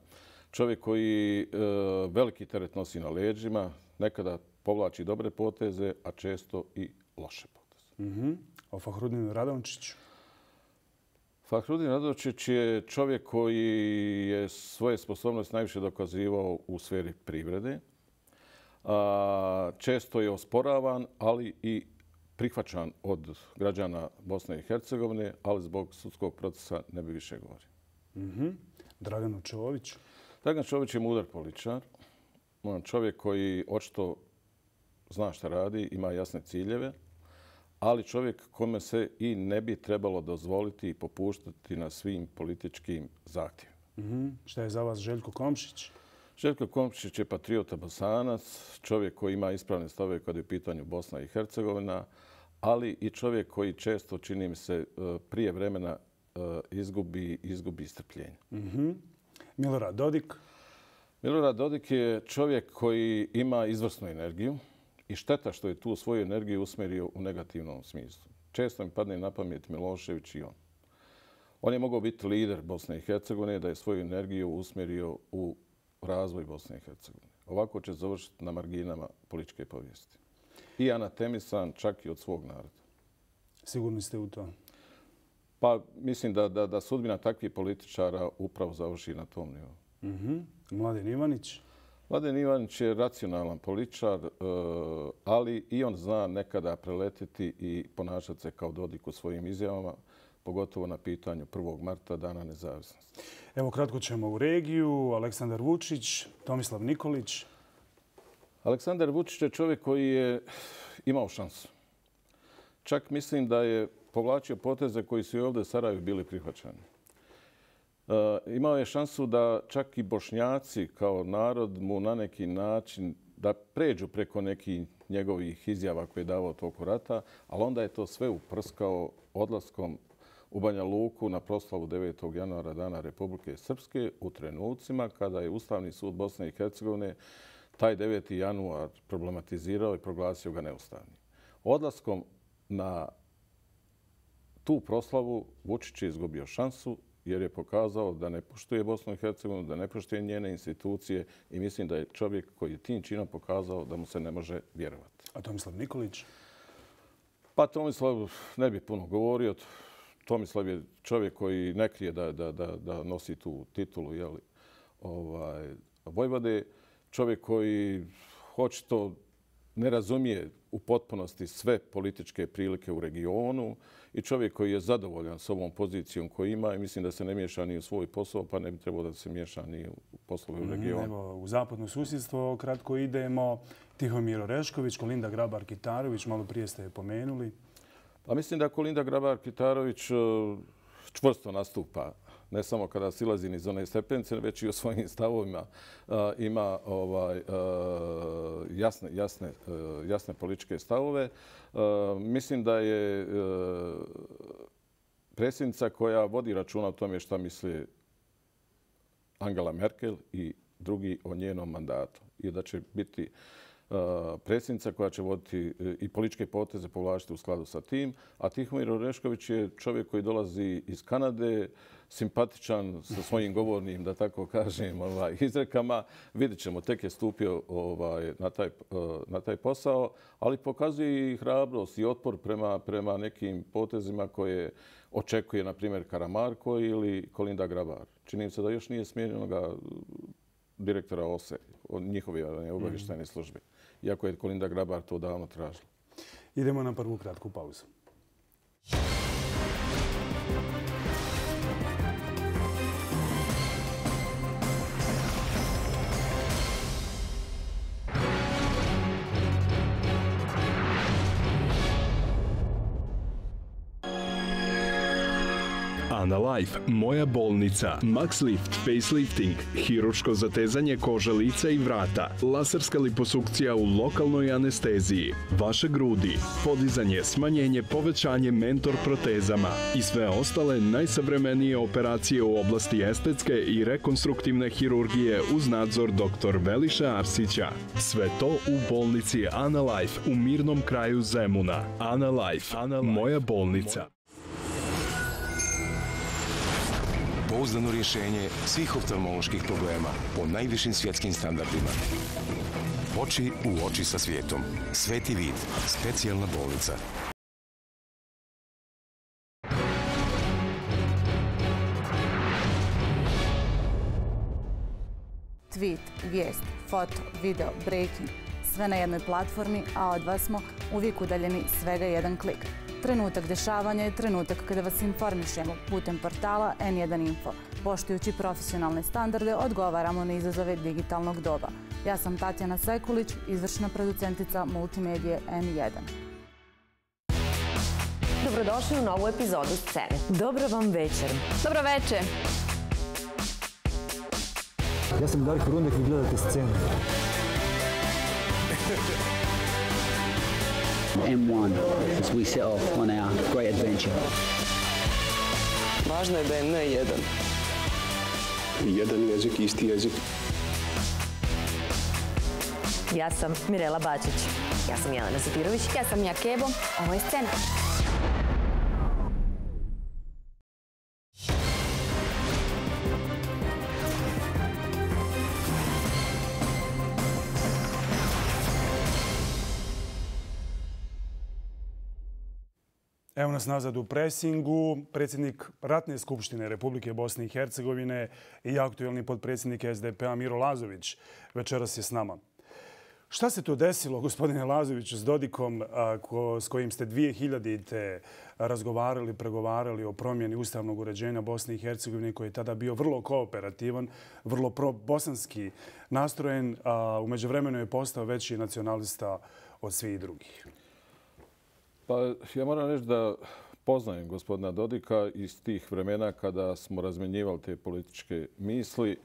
Čovjek koji uh, veliki teret nosi na leđima, nekada povlači dobre poteze, a često i loše poteze. Mm-hmm. O Fahrudinu Radončiću? Fahrudin Radončić je čovjek koji je svoje sposobnosti najviše dokazivao u sferi privrede. A, često je osporavan, ali i prihvaćan od građana Bosne i Hercegovine, ali zbog sudskog procesa ne bi više govorio. Mm-hmm. Dragan Čović? Dragan Čović je mudar političar. Čovjek koji očito zna šta radi, ima jasne ciljeve, ali čovjek kome se i ne bi trebalo dozvoliti i popuštati na svim političkim zahtjevima. Mm-hmm. Šta je za vas Željko Komšić? Željko Komšić je patriota Bosanac, čovjek koji ima ispravne stavove kada je u pitanju Bosna i Hercegovina, ali i čovjek koji često, čini mi se, prije vremena izgubi, izgubi strpljenje. Mm-hmm. Milorad Dodik? Milorad Dodik je čovjek koji ima izvrsnu energiju i šteta što je tu svoju energiju usmjerio u negativnom smislu. Često mi padne na pamet Milošević i on. On je mogao biti lider Bosne i Hercegovine da je svoju energiju usmjerio u razvoj Bosne i Hercegovine. Ovako će završiti na marginama političke povijesti. I anatemisan čak i od svog naroda. Sigurni ste u to? Pa mislim da, da, da sudbina takvih političara upravo završi na tom nivou. Mm-hmm. Mladen Ivanić? Mladen Ivanić je racionalan političar, ali i on zna nekada preletiti i ponašati se kao Dodik u svojim izjavama, pogotovo na pitanju prvog marta, dana nezavisnosti. Evo, kratko ćemo u regiju. Aleksandar Vučić, Tomislav Nikolić. Aleksandar Vučić je čovjek koji je imao šansu. Čak mislim da je povlačio poteze koji su i ovdje u Sarajevu bili prihvaćani. imao je šansu da čak i Bošnjaci kao narod mu na neki način da pređu preko nekih njegovih izjava koje je davao toku rata, ali onda je to sve uprskao odlaskom u Banja Luku na proslavu devetog januara Dana Republike Srpske u trenucima kada je Ustavni sud Bosne i Hercegovine taj deveti januar problematizirao i proglasio ga neustavnim. Odlaskom na tu proslavu Vučić je izgubio šansu jer je pokazao da ne poštuje Bosnu i Hercegovinu, da ne poštuje njene institucije i mislim da je čovjek koji je tim činom pokazao da mu se ne može vjerovati. A Tomislav Nikolić? Pa Tomislav ne bi puno govorio. Tomislav je čovjek koji ne krije da, da, da, da nosi tu titulu jeli, ovaj, Vojvode. Čovjek koji očito ne razumije u potpunosti sve političke prilike u regionu i čovjek koji je zadovoljan s ovom pozicijom koju ima i mislim da se ne miješa ni u svoj posao, pa ne bi trebalo da se miješa ni u poslove u regionu. Evo, u zapadno susjedstvo kratko idemo. Tihomir Orešković, Kolinda Grabar-Kitarović, malo prije ste je pomenuli. Pa mislim da Kolinda Grabar-Kitarović čvrsto nastupa, ne samo kada silazi niz one stepence, već i o svojim stavovima uh, ima ovaj, uh, jasne, jasne, uh, jasne političke stavove. Uh, mislim da je uh, predsjednica koja vodi računa o tome šta misli Angela Merkel i drugi o njenom mandatu i da će biti predsjednica koja će voditi i političke poteze povlačiti u skladu sa tim. A Tihomir Orešković je čovjek koji dolazi iz Kanade, simpatičan sa svojim govornim, da tako kažem, ovaj, izrekama. Vidjet ćemo, tek je stupio ovaj, na, taj, na taj posao, ali pokazuje i hrabrost i otpor prema, prema nekim potezima koje očekuje, na primjer, Karamarko ili Kolinda Grabar. Čini mi se da još nije smijenjenoga direktora O S E, od njihove obavještajne službe. Iako je Kolinda Grabar to davno tražila. Idemo na prvu kratku pauzu. Analife, Moja bolnica, Maxlift, facelifting, hirurško zatezanje kože lica i vrata, laserska liposukcija u lokalnoj anesteziji, vaše grudi, podizanje, smanjenje, povećanje mentor protezama i sve ostale najsavremenije operacije u oblasti estetske i rekonstruktivne hirurgije uz nadzor doktor Veliša Arsića. Sve to u bolnici Analife u mirnom kraju Zemuna. Analife, Moja bolnica. Pouzdano rješenje svih oftalmoloških problema po najvišim svjetskim standardima. Oči u oči sa svijetom. Sveti vid. Specijalna bolnica. Tweet, vijest, foto, video, breaking. Sve na jednoj platformi, a od vas smo uvijek udaljeni svega jedan klik. Trenutak dešavanja je trenutak kada vas informišemo putem portala en jedan info. Poštujući profesionalne standarde, odgovaramo na izazove digitalnog doba. Ja sam Tatjana Sekulić, izvršna producentica multimedije en jedan. Dobrodošli u novu epizodu Scene. Dobro vam večer. Dobro večer. Ja sam Darko Rundek i gledate Scenu. M one as we set off on our great adventure. Važno je da je ne jedan. Jedan jezik, isti jezik. Ja sam Mirela Bačić. Ja sam Jelena Zapirović. Ja sam Mija Kebo. Ovo je Scena. Evo nas nazad u presingu. Predsjednik Ratne skupštine Republike Bosne i Hercegovine i aktuelni potpredsjednik es de pe a Miro Lazović večeras je s nama. Šta se to desilo, gospodine Lazoviću, s Dodikom s kojim ste dvije hiljadite razgovarali, pregovarali o promjeni ustavnog uređenja Bosne i Hercegovine, koji je tada bio vrlo kooperativan, vrlo pro-bosanski nastrojen, a u međuvremenu je postao veći nacionalista od svih drugih? Pa ja moram reći da poznajem gospodina Dodika iz tih vremena kada smo razmenjivali te političke misli.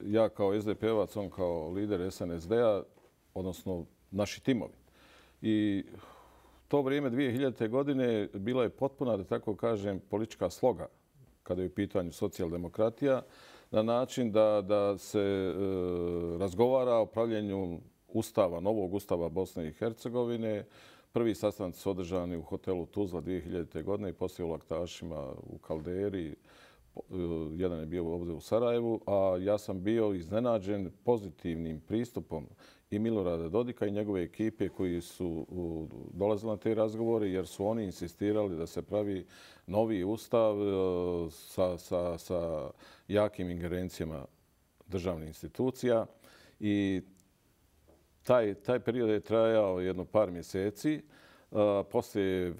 Ja kao es de pe ovac, on kao lider es en es de-a, odnosno naši timovi. I to vrijeme dvije hiljadite. godine bila je potpuna, da tako kažem, politička sloga kada je u pitanju socijaldemokratija, na način da, da se e, razgovara o pravljenju ustava, novog ustava Bosne i Hercegovine. Prvi sastanci su održani u hotelu Tuzla dvije hiljadite. godine i poslije u Laktašima u Kalderi. Jedan je bio ovdje u Sarajevu, a ja sam bio iznenađen pozitivnim pristupom i Milorada Dodika i njegove ekipe koji su dolazili na te razgovore, jer su oni insistirali da se pravi novi ustav sa, sa, sa jakim ingerencijama državnih institucija. I taj, taj period je trajao jedno par mjeseci. Poslije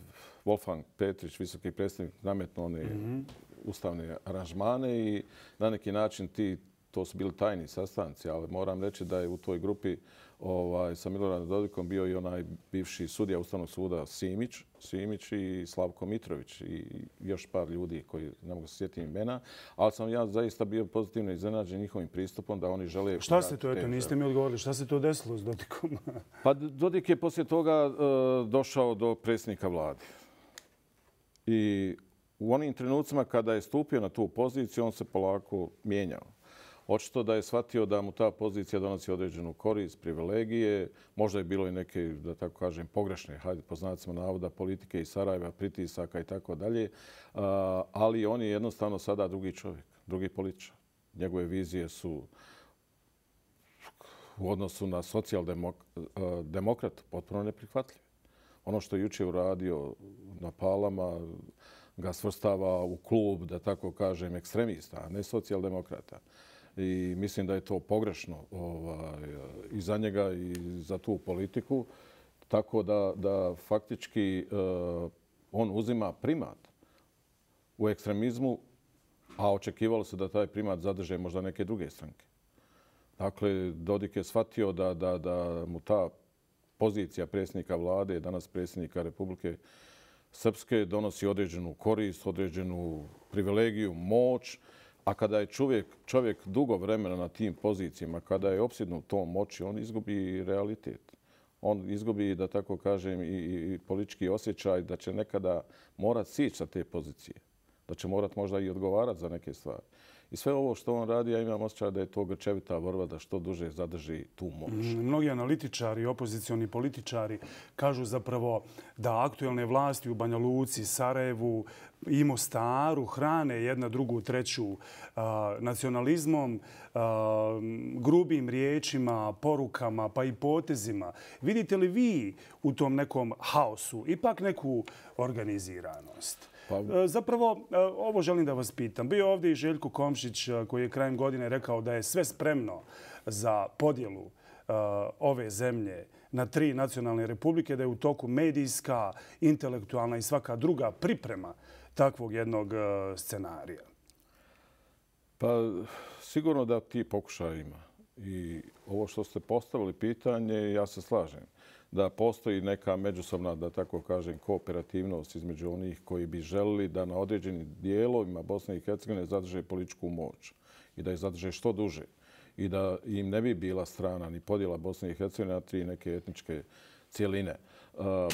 Wolfgang Petrić, visoki predstavnik, nametnuo one mm-hmm. ustavne aranžmane i na neki način ti, to su bili tajni sastanci, ali moram reći da je u toj grupi ovaj, sa Miloradom Dodikom bio i onaj bivši sudija Ustavnog suda Simić, Simić i Slavko Mitrović i još par ljudi koji ne mogu se sjetiti imena, ali sam ja zaista bio pozitivno iznenađen njihovim pristupom da oni žele... Šta se to, eto, niste mi odgovorili, šta se to desilo s Dodikom? Pa Dodik je poslije toga uh, došao do predsjednika vlade. I u onim trenucima kada je stupio na tu poziciju, on se polako mijenjao. Očito da je shvatio da mu ta pozicija donosi određenu korist, privilegije. Možda je bilo i neke, da tako kažem, pogrešne, hajde po znacima navoda, politike iz Sarajeva, pritisaka i tako dalje. Ali on je jednostavno sada drugi čovjek, drugi političar. Njegove vizije su u odnosu na socijaldemokrat potpuno neprihvatljive. Ono što je jučer uradio na Palama ga svrstava u klub, da tako kažem, ekstremista, a ne socijaldemokrata. I mislim da je to pogrešno ovaj, i za njega i za tu politiku. Tako da, da faktički uh, on uzima primat u ekstremizmu, a očekivalo se da taj primat zadrže možda neke druge stranke. Dakle, Dodik je shvatio da, da, da mu ta pozicija predsjednika vlade, danas predsjednika Republike Srpske, donosi određenu korist, određenu privilegiju, moć. A kada je čovjek, čovjek dugo vremena na tim pozicijama, kada je opsjednut tom moći, on izgubi realitet. On izgubi, da tako kažem, i, i politički osjećaj da će nekada morat sići sa te pozicije. Da će morat možda i odgovarati za neke stvari. I sve ovo što on radi, ja imam osjećaj da je to grčevita borba da što duže zadrži tu moć. Mnogi analitičari, opozicioni političari kažu zapravo da aktuelne vlasti u Banja Luci, Sarajevu i Mostaru hrane jedna drugu, treću a, nacionalizmom, a, grubim riječima, porukama pa i potezima. Vidite li vi u tom nekom haosu ipak neku organiziranost? Pa... Zapravo, ovo želim da vas pitam. Bio ovdje i Željko Komšić koji je krajem godine rekao da je sve spremno za podjelu ove zemlje na tri nacionalne republike, da je u toku medijska, intelektualna i svaka druga priprema takvog jednog scenarija. Pa sigurno da ti pokušaja ima. I ovo što ste postavili pitanje, ja se slažem da postoji neka međusobna, da tako kažem, kooperativnost između onih koji bi želili da na određenim dijelovima Bosne i Hercegovine zadrže političku moć i da je zadrže što duže i da im ne bi bila strana ni podjela Bosne i Hercegovine na tri neke etničke cijeline.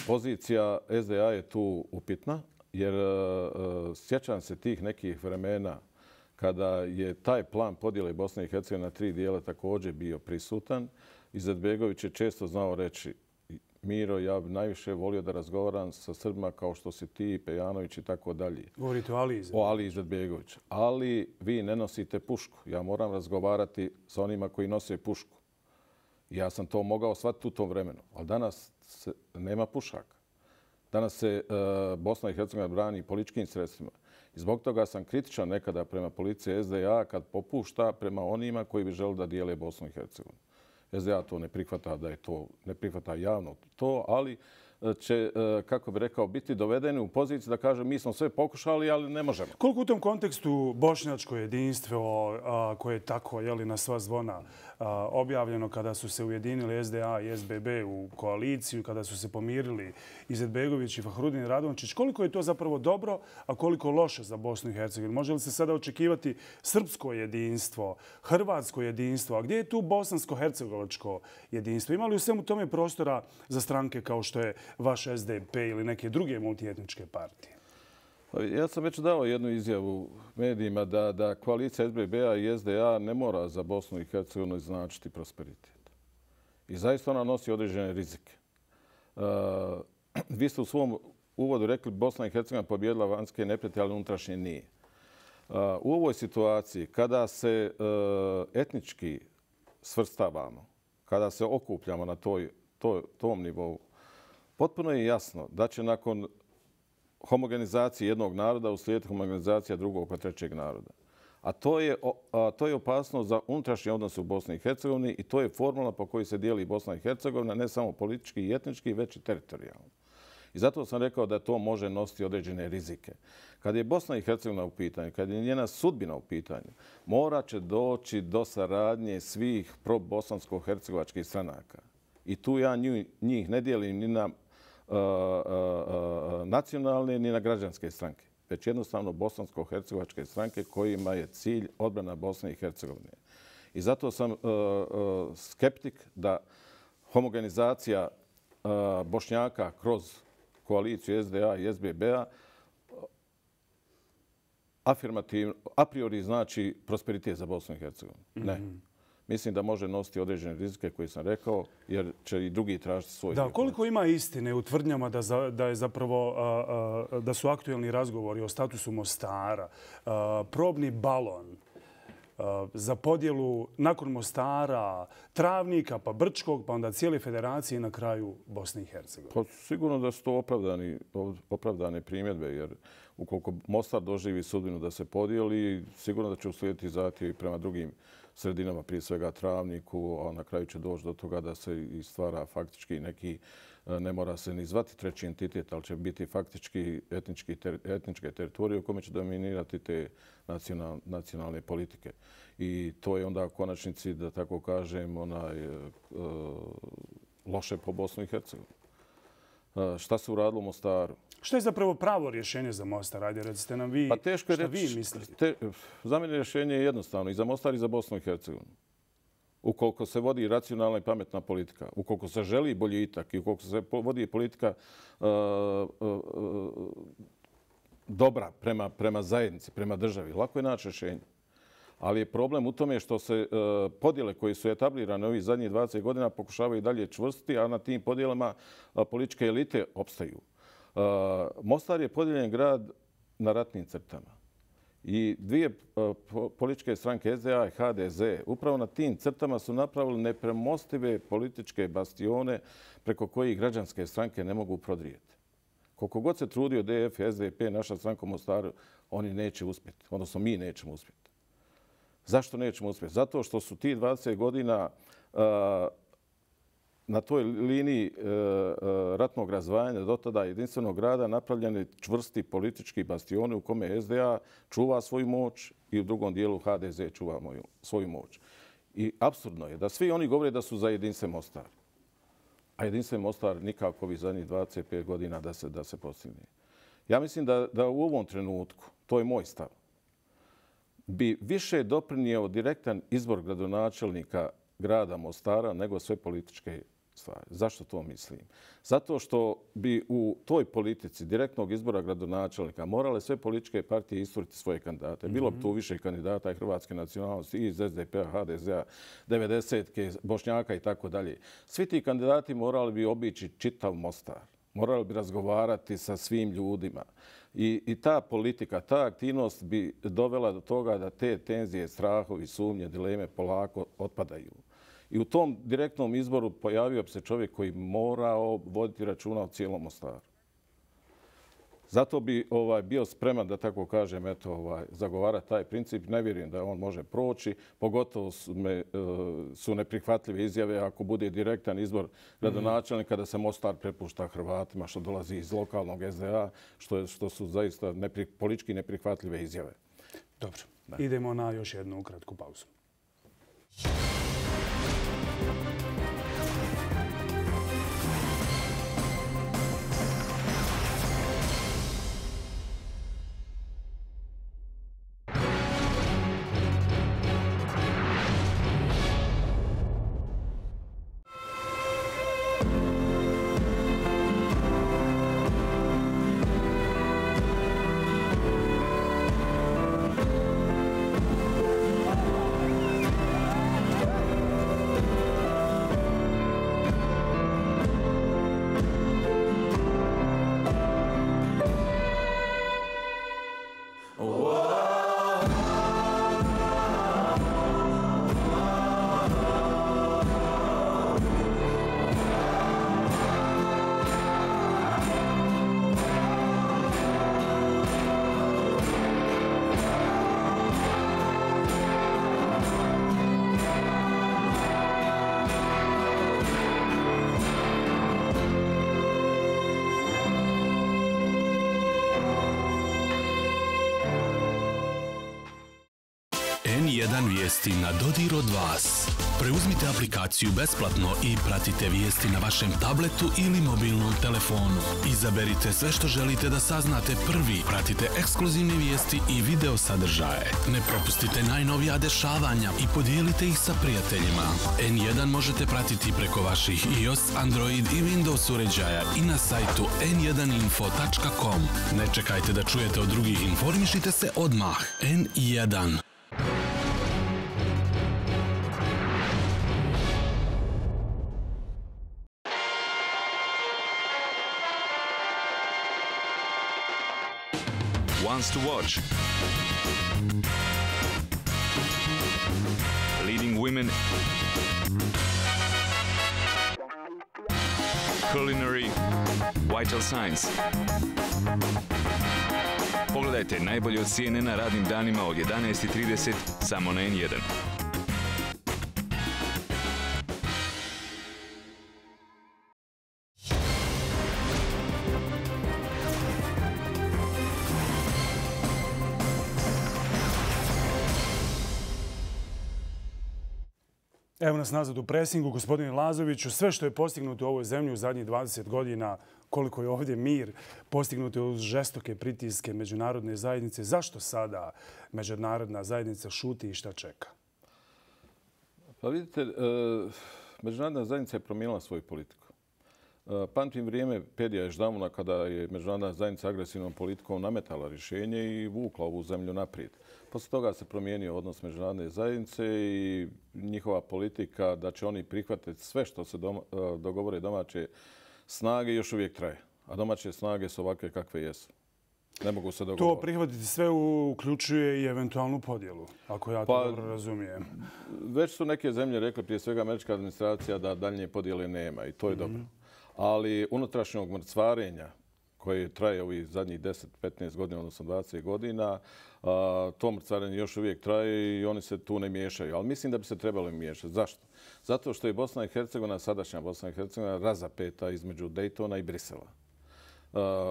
Pozicija es de a je tu upitna jer sjećam se tih nekih vremena kada je taj plan podjele Bosne i Hercegovine na tri dijela također bio prisutan. Izetbegović je često znao reći: Miro, ja bi najviše volio da razgovaram sa Srbima kao što si ti, Pejanović i tako dalje. Govorite o Ali Izetbegoviću. O Ali Izetbegoviću. Ali vi ne nosite pušku. Ja moram razgovarati sa onima koji nose pušku. Ja sam to mogao shvatiti u tom vremenu. Ali danas se, nema pušaka. Danas se uh, Bosna i Hercegovina brani političkim sredstvima. I zbog toga sam kritičan nekada prema policiji es de a kad popušta prema onima koji bi želi da dijele Bosnu i Hercegovinu. es de a to ne prihvata, da je to, ne prihvata javno to, ali će, kako bi rekao, biti dovedeni u poziciju da kaže mi smo sve pokušali, ali ne možemo. Koliko u tom kontekstu bošnjačko jedinstvo koje je tako na sva zvona objavljeno kada su se ujedinili S D A i S B B u koaliciju, kada su se pomirili Izetbegović i Fahrudin Radončić, koliko je to zapravo dobro, a koliko loše za Bosnu i Hercegovinu? Može li se sada očekivati srpsko jedinstvo, hrvatsko jedinstvo, a gdje je tu bosansko-hercegovačko jedinstvo? Ima li u svemu tome prostora za stranke kao što je vaš S D P ili neke druge multietničke partije? Ja sam već dao jednu izjavu medijima da, da koalicija S B B-a i S D A ne mora za Bosnu i Hercegovinu značiti prosperitet. I zaista ona nosi određene rizike. Uh, vi ste u svom uvodu rekli Bosna i Hercegovina pobjedila vanjske neprijatelje, ali unutrašnje nije. Uh, u ovoj situaciji, kada se uh, etnički svrstavamo, kada se okupljamo na toj, toj, tom nivou, potpuno je jasno da će nakon homogenizacije jednog naroda uslijediti homogenizacija drugog pa trećeg naroda. A to je, a to je opasnost za unutrašnje odnose u Bosni i Hercegovini i to je formula po kojoj se dijeli Bosna i Hercegovina, ne samo politički i etnički, već i teritorijalno. I zato sam rekao da to može nositi određene rizike. Kad je Bosna i Hercegovina u pitanju, kad je njena sudbina u pitanju, mora će doći do saradnje svih pro-bosansko-hercegovačkih stranaka. I tu ja njih ne dijelim ni na uh, uh, uh, nacionalne ni na građanske stranke, već jednostavno bosansko-hercegovačke stranke kojima je cilj odbrana Bosne i Hercegovine. I zato sam uh, uh, skeptik da homogenizacija uh, Bošnjaka kroz koaliciju S D A i S B B-a afirmativno, a priori znači prosperitet za Bosnu i Hercegovinu. Ne. Mislim da može nositi određene rizike koje sam rekao, jer će i drugi tražiti svoj. Da, koliko ima istine u tvrdnjama da, za, da, je zapravo, a, a, da su aktuelni razgovori o statusu Mostara, a, probni balon a, za podjelu nakon Mostara, Travnika, pa Brčkog, pa onda cijele federacije i na kraju Bosne i Hercegovine? Pa, sigurno da su to opravdani, opravdane primjedbe, jer ukoliko Mostar doživi sudbinu da se podijeli, sigurno da će uslijediti zahtjevi prema drugim sredinama, prije svega Travniku, a na kraju će doći do toga da se i stvara faktički neki, ne mora se ni zvati treći entitet, ali će biti faktički etnički, ter, etničke teritorije u kome će dominirati te nacional, nacionalne politike. I to je onda u konačnici, da tako kažem, onaj, e, loše po Bosnu i Hercegovini. E, šta se uradilo u Mostaru? Što je zapravo pravo rješenje za Mostar? Ajde, recite nam vi, pa teško je šta reći, vi mislite. Te, za mene rješenje je jednostavno i za Mostar i za Bosnu i Hercegovinu. Ukoliko se vodi racionalna i pametna politika, ukoliko se želi boljitak i ukoliko se vodi politika uh, uh, uh, dobra prema, prema zajednici, prema državi, lako je naći rješenje. Ali je problem u tome što se uh, podjele koje su etablirane ovih zadnjih dvadeset godina pokušavaju dalje čvrstiti, a na tim podjelama uh, političke elite opstaju. Uh, Mostar je podijeljen grad na ratnim crtama. I dvije uh, političke stranke S D A i H D Z upravo na tim crtama su napravili nepremostive političke bastione preko kojih građanske stranke ne mogu prodrijeti. Koliko god se trudio D F, S D P, naša stranka u Mostaru, oni neće uspjeti. Odnosno mi nećemo uspjeti. Zašto nećemo uspjeti? Zato što su ti dvadeset godina uh, na toj liniji e, ratnog razvajanja do tada jedinstvenog grada napravljeni čvrsti politički bastioni u kome S D A čuva svoju moć i u drugom dijelu H D Z čuva moju, svoju moć. I apsurdno je da svi oni govore da su za jedinstven Mostar. A jedinstven Mostar nikako ovih zadnjih dvadeset pet godina da se, da se postigne. Ja mislim da, da u ovom trenutku, to je moj stav, bi više doprinio direktan izbor gradonačelnika grada Mostara nego sve političke stvari. Zašto to mislim? Zato što bi u toj politici direktnog izbora gradonačelnika morale sve političke partije isturiti svoje kandidate. Bilo bi tu više kandidata i hrvatske nacionalnosti iz S D P-a, H D Z-a, devedesetke, Bošnjaka i tako dalje. Svi ti kandidati morali bi obići čitav Mostar. Morali bi razgovarati sa svim ljudima. I, i ta politika, ta aktivnost bi dovela do toga da te tenzije, strahovi, sumnje, dileme polako otpadaju. I u tom direktnom izboru pojavio bi se čovjek koji morao voditi računa o cijelom Mostaru. Zato bi ovaj, bio spreman, da tako kažem, eto, ovaj, zagovarati taj princip. Ne vjerujem da on može proći. Pogotovo su, me, su neprihvatljive izjave ako bude direktan izbor gradonačelnika da se Mostar prepušta Hrvatima, što dolazi iz lokalnog S D A, što, je, što su zaista nepri, politički neprihvatljive izjave. Dobro. Da. Idemo na još jednu kratku pauzu. en jedan vijesti na dodir od vas. Preuzmite aplikaciju besplatno i pratite vijesti na vašem tabletu ili mobilnom telefonu. Izaberite sve što želite da saznate prvi. Pratite ekskluzivne vijesti i video sadržaje. Ne propustite najnovija dešavanja i podijelite ih sa prijateljima. en jedan možete pratiti preko vaših iOS, Android i Windows uređaja i na sajtu en jedan info tačka com. Ne čekajte da čujete od drugih, informišite se odmah. en jedan. Wants to watch. Leading women. Culinary. Vital signs. Pogledajte najbolje od C N N-a radnim danima od jedanaest i trideset samo na en jedan. Evo nas nazad u presingu, gospodine Lazoviću. Sve što je postignuto u ovoj zemlji u zadnjih dvadeset godina, koliko je ovdje mir, postignuto je uz žestoke pritiske međunarodne zajednice. Zašto sada međunarodna zajednica šuti i šta čeka? Pa vidite, međunarodna zajednica je promijenila svoju politiku. Pamtim vrijeme Pedija Ježdamuna kada je međunarodna zajednica agresivnom politikom nametala rješenje i vukla ovu zemlju naprijed. Poslije toga se promijenio odnos međunarodne zajednice i njihova politika da će oni prihvatiti sve što se doma, dogovore domaće snage još uvijek traje. A domaće snage su ovakve kakve jesu. Ne mogu se dogovoriti. To prihvatiti sve uključuje i eventualnu podjelu, ako ja to pa, dobro razumijem. Već su neke zemlje rekli, prije svega američka administracija, da daljnje podjele nema i to je mm-hmm. dobro. Ali unutrašnjog mrcvarenja koje traje ovih zadnjih deset do petnaest godina, odnosno dvadeset godina, to mrcvarenje još uvijek traje i oni se tu ne miješaju. Ali mislim da bi se trebalo miješati. Zašto? Zato što je Bosna i Hercegovina, sadašnja Bosna i Hercegovina, razapeta između Daytona i Brisela.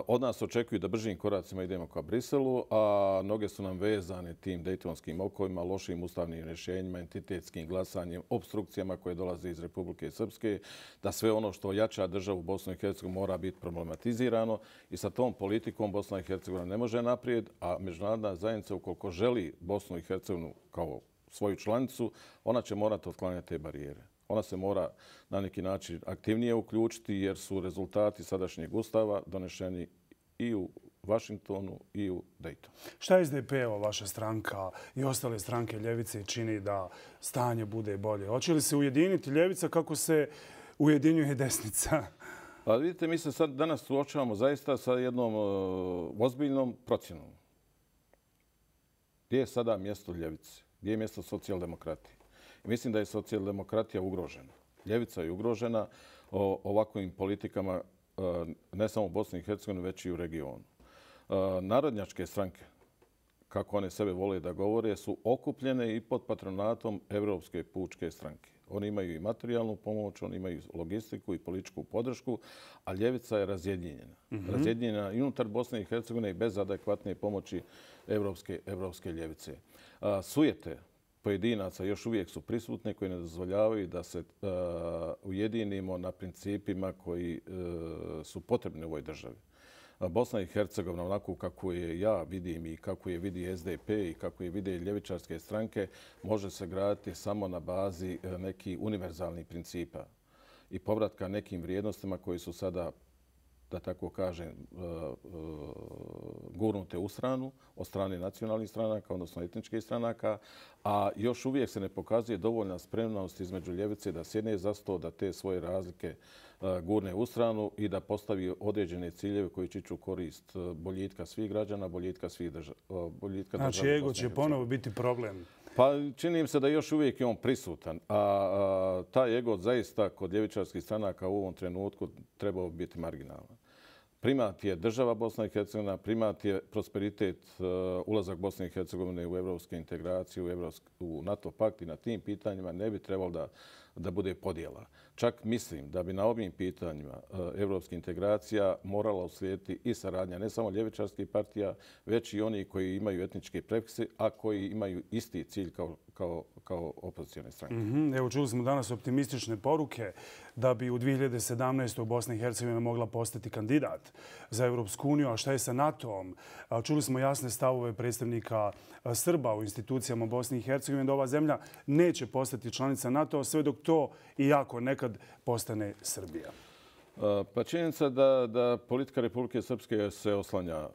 Od nas očekuju da bržim koracima idemo ka Briselu, a noge su nam vezane tim dejtonskim okovima, lošim ustavnim rješenjima, entitetskim glasanjem, obstrukcijama koje dolaze iz Republike Srpske, da sve ono što jača državu Bosnu i Hercegovinu mora biti problematizirano i sa tom politikom Bosna i Hercegovina ne može naprijed, a međunarodna zajednica ukoliko želi Bosnu i Hercegovinu kao svoju članicu, ona će morati otklanjati te barijere. Ona se mora na neki način aktivnije uključiti jer su rezultati sadašnjeg ustava donešeni i u Vašingtonu i u Daytonu. Šta S D P-ova, vaša stranka i ostale stranke ljevice čini da stanje bude bolje? Hoće li se ujediniti ljevica kako se ujedinjuje desnica? Pa vidite, mi se sad danas suočavamo zaista sa jednom uh, ozbiljnom procjenom. Gdje je sada mjesto ljevice? Gdje je mjesto socijaldemokratije? Mislim da je socijaldemokratija ugrožena. Ljevica je ugrožena o ovakvim politikama ne samo u Bosni i Hercegovini, već i u regionu. Narodnjačke stranke, kako one sebe vole da govore, su okupljene i pod patronatom Evropske pučke stranke. Oni imaju i materijalnu pomoć, oni imaju logistiku i političku podršku, a ljevica je razjedinjena. Mm-hmm. Razjedinjena i unutar Bosne i Hercegovine i bez adekvatne pomoći evropske, evropske ljevice. A, sujete pojedinaca još uvijek su prisutne koji ne dozvoljavaju da se a, ujedinimo na principima koji a, su potrebni u ovoj državi. Bosna i Hercegovina, onako kako je ja vidim i kako je vidi S D P i kako je vide ljevičarske stranke, može se graditi samo na bazi nekih univerzalnih principa i povratka nekim vrijednostima koji su sada, da tako kažem, gurnute u stranu, od strane nacionalnih stranaka, odnosno etničkih stranaka, a još uvijek se ne pokazuje dovoljna spremnost između ljevice da sjedne za sto, da te svoje razlike gurne u stranu i da postavi određene ciljeve koji će ići korist boljitka svih građana, boljitka svih država. Znači, ego će ponovo biti problem. Pa čini im se da još uvijek je on prisutan, a, a taj ego zaista kod ljevičarskih stranaka u ovom trenutku trebao biti marginalan. Primat je država Bosna i Hercegovina, primat je prosperitet, uh, ulazak Bosne i Hercegovine u evropske integracije, u, evropsk, u NATO pakt i na tim pitanjima ne bi trebalo da, da bude podjela. Čak mislim da bi na ovim pitanjima uh, evropskih integracija morala uslijediti i saradnja ne samo ljevičarskih partija, već i oni koji imaju etničke prefikse, a koji imaju isti cilj kao, kao, kao opozicijone stranke. Mm-hmm. Evo, čuli smo danas optimistične poruke da bi u dvije hiljade sedamnaestoj Bosna i Hercegovina mogla postati kandidat za Evropsku uniju. A šta je sa NATO-om? Čuli smo jasne stavove predstavnika Srba u institucijama Bosne i Hercegovine da ova zemlja neće postati članica NATO-a sve dok to i jako nekad postane Srbija. Pa činjenica da, da politika Republike Srpske se oslanja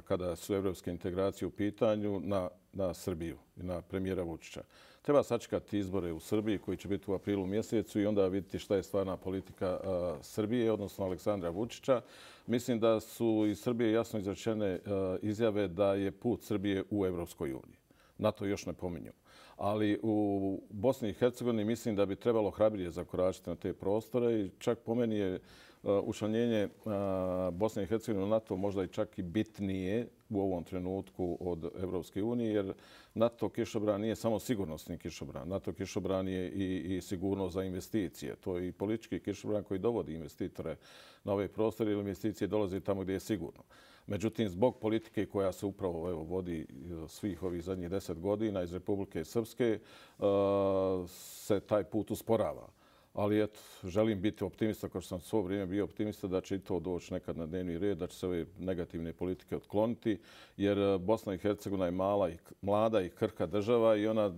kada su evropske integracije u pitanju na, na Srbiju i na premijera Vučića. Treba sačekati izbore u Srbiji koji će biti u aprilu mjesecu i onda vidjeti šta je stvarna politika uh, Srbije, odnosno Aleksandra Vučića. Mislim da su iz Srbije jasno izrečene uh, izjave da je put Srbije u Evropskoj uniji. NATO još ne pominju. Ali u Bosni i Hercegovini mislim da bi trebalo hrabrije zakoračiti na te prostore i čak po meni je učlanjenje Bosne i Hercegovine u NATO možda i čak i bitnije u ovom trenutku od Evropske unije, jer NATO kišobran nije samo sigurnosni kišobran. NATO kišobran je i, i sigurnost za investicije. To je i politički kišobran koji dovodi investitore na ove prostore ili investicije dolaze tamo gdje je sigurno. Međutim, zbog politike koja se upravo evo, vodi svih ovih zadnjih deset godina iz Republike Srpske, se taj put usporava. Ali eto, želim biti optimista, kao što sam svo vrijeme bio optimista, da će i to doći nekad na dnevni red, da će se ove negativne politike otkloniti, jer Bosna i Hercegovina je mala i, mlada i krhka država i ona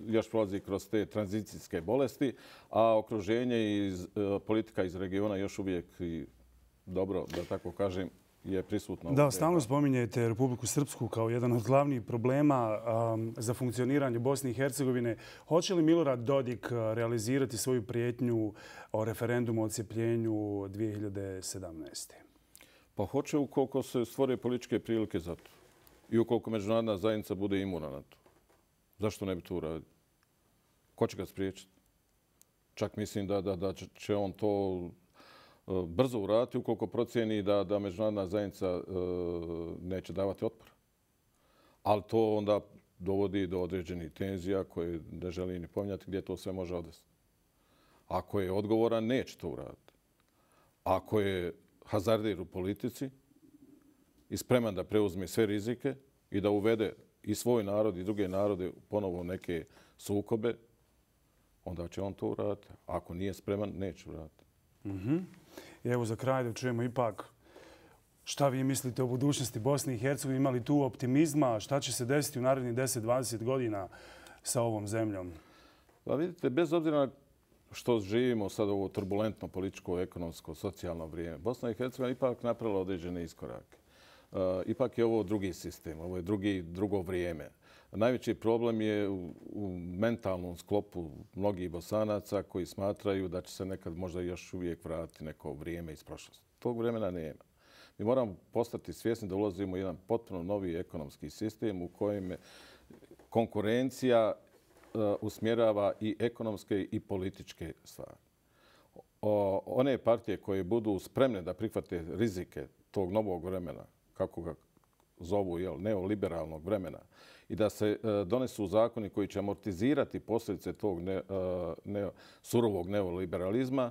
još prolazi kroz te tranzicijske bolesti, a okruženje i politika iz regiona još uvijek i dobro, da tako kažem, je prisutno. Da, stalno spominjete Republiku Srpsku kao jedan od glavnih problema um, za funkcioniranje Bosne i Hercegovine. Hoće li Milorad Dodik realizirati svoju prijetnju o referendumu o odcijepljenju dvije hiljade sedamnaeste. Pa hoće ukoliko se stvore političke prilike za to. I ukoliko međunarodna zajednica bude imuna na to. Zašto ne bi to uradio? Ko će ga spriječiti? Čak mislim da, da, da će on to brzo uraditi ukoliko procijeni da, da međunarodna zajednica e, neće davati otpor. Ali to onda dovodi do određenih tenzija koje ne želi ni pominjati gdje to sve može odvesti. Ako je odgovoran, neće to uraditi. Ako je hazardir u politici i spreman da preuzme sve rizike i da uvede i svoj narod i druge narode ponovo neke sukobe, onda će on to uraditi. Ako nije spreman, neće uraditi. Mm-hmm. I evo za kraj da čujemo ipak šta vi mislite o budućnosti Bosne i Hercegovine. Ima li tu optimizma? Šta će se desiti u narednih deset do dvadeset godina sa ovom zemljom? Pa vidite, bez obzira što živimo sad ovo turbulentno političko, ekonomsko, socijalno vrijeme, Bosna i Hercegovina ipak napravila određene iskorake. Uh, ipak je ovo drugi sistem, ovo je drugi, drugo vrijeme. Najveći problem je u, u mentalnom sklopu mnogih Bosanaca koji smatraju da će se nekad možda još uvijek vratiti neko vrijeme iz prošlosti. Tog vremena nema. Mi moramo postati svjesni da ulazimo u jedan potpuno novi ekonomski sistem u kojem konkurencija uh, usmjerava i ekonomske i političke stvari. O, one partije koje budu spremne da prihvate rizike tog novog vremena, kako ga zovu, jel, neoliberalnog vremena i da se donesu zakoni koji će amortizirati posljedice tog ne, ne, surovog neoliberalizma,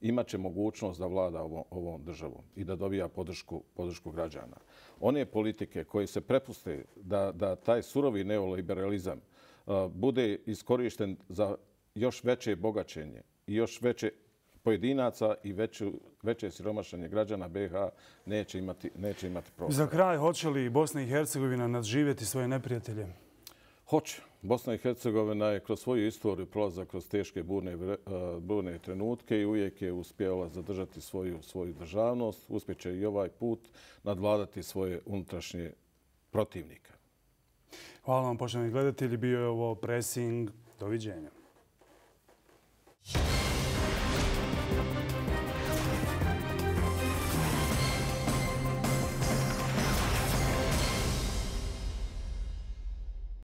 imat će mogućnost da vlada ovom, ovom državom i da dobija podršku, podršku građana. One politike koje se prepuste da, da taj surovi neoliberalizam uh, bude iskorišten za još veće bogaćenje i još veće pojedinaca i veću, veće siromašenje građana B iH neće imati, neće imati prostora. Za kraj, hoće li Bosna i Hercegovina nadživjeti svoje neprijatelje? Hoće. Bosna i Hercegovina je kroz svoju istoriju prolazila kroz teške burne, burne trenutke i uvijek je uspjela zadržati svoju, svoju državnost. Uspjeće i ovaj put nadvladati svoje unutrašnje protivnike. Hvala vam, poštovani gledatelji. Bio je ovo Pressing. Doviđenja.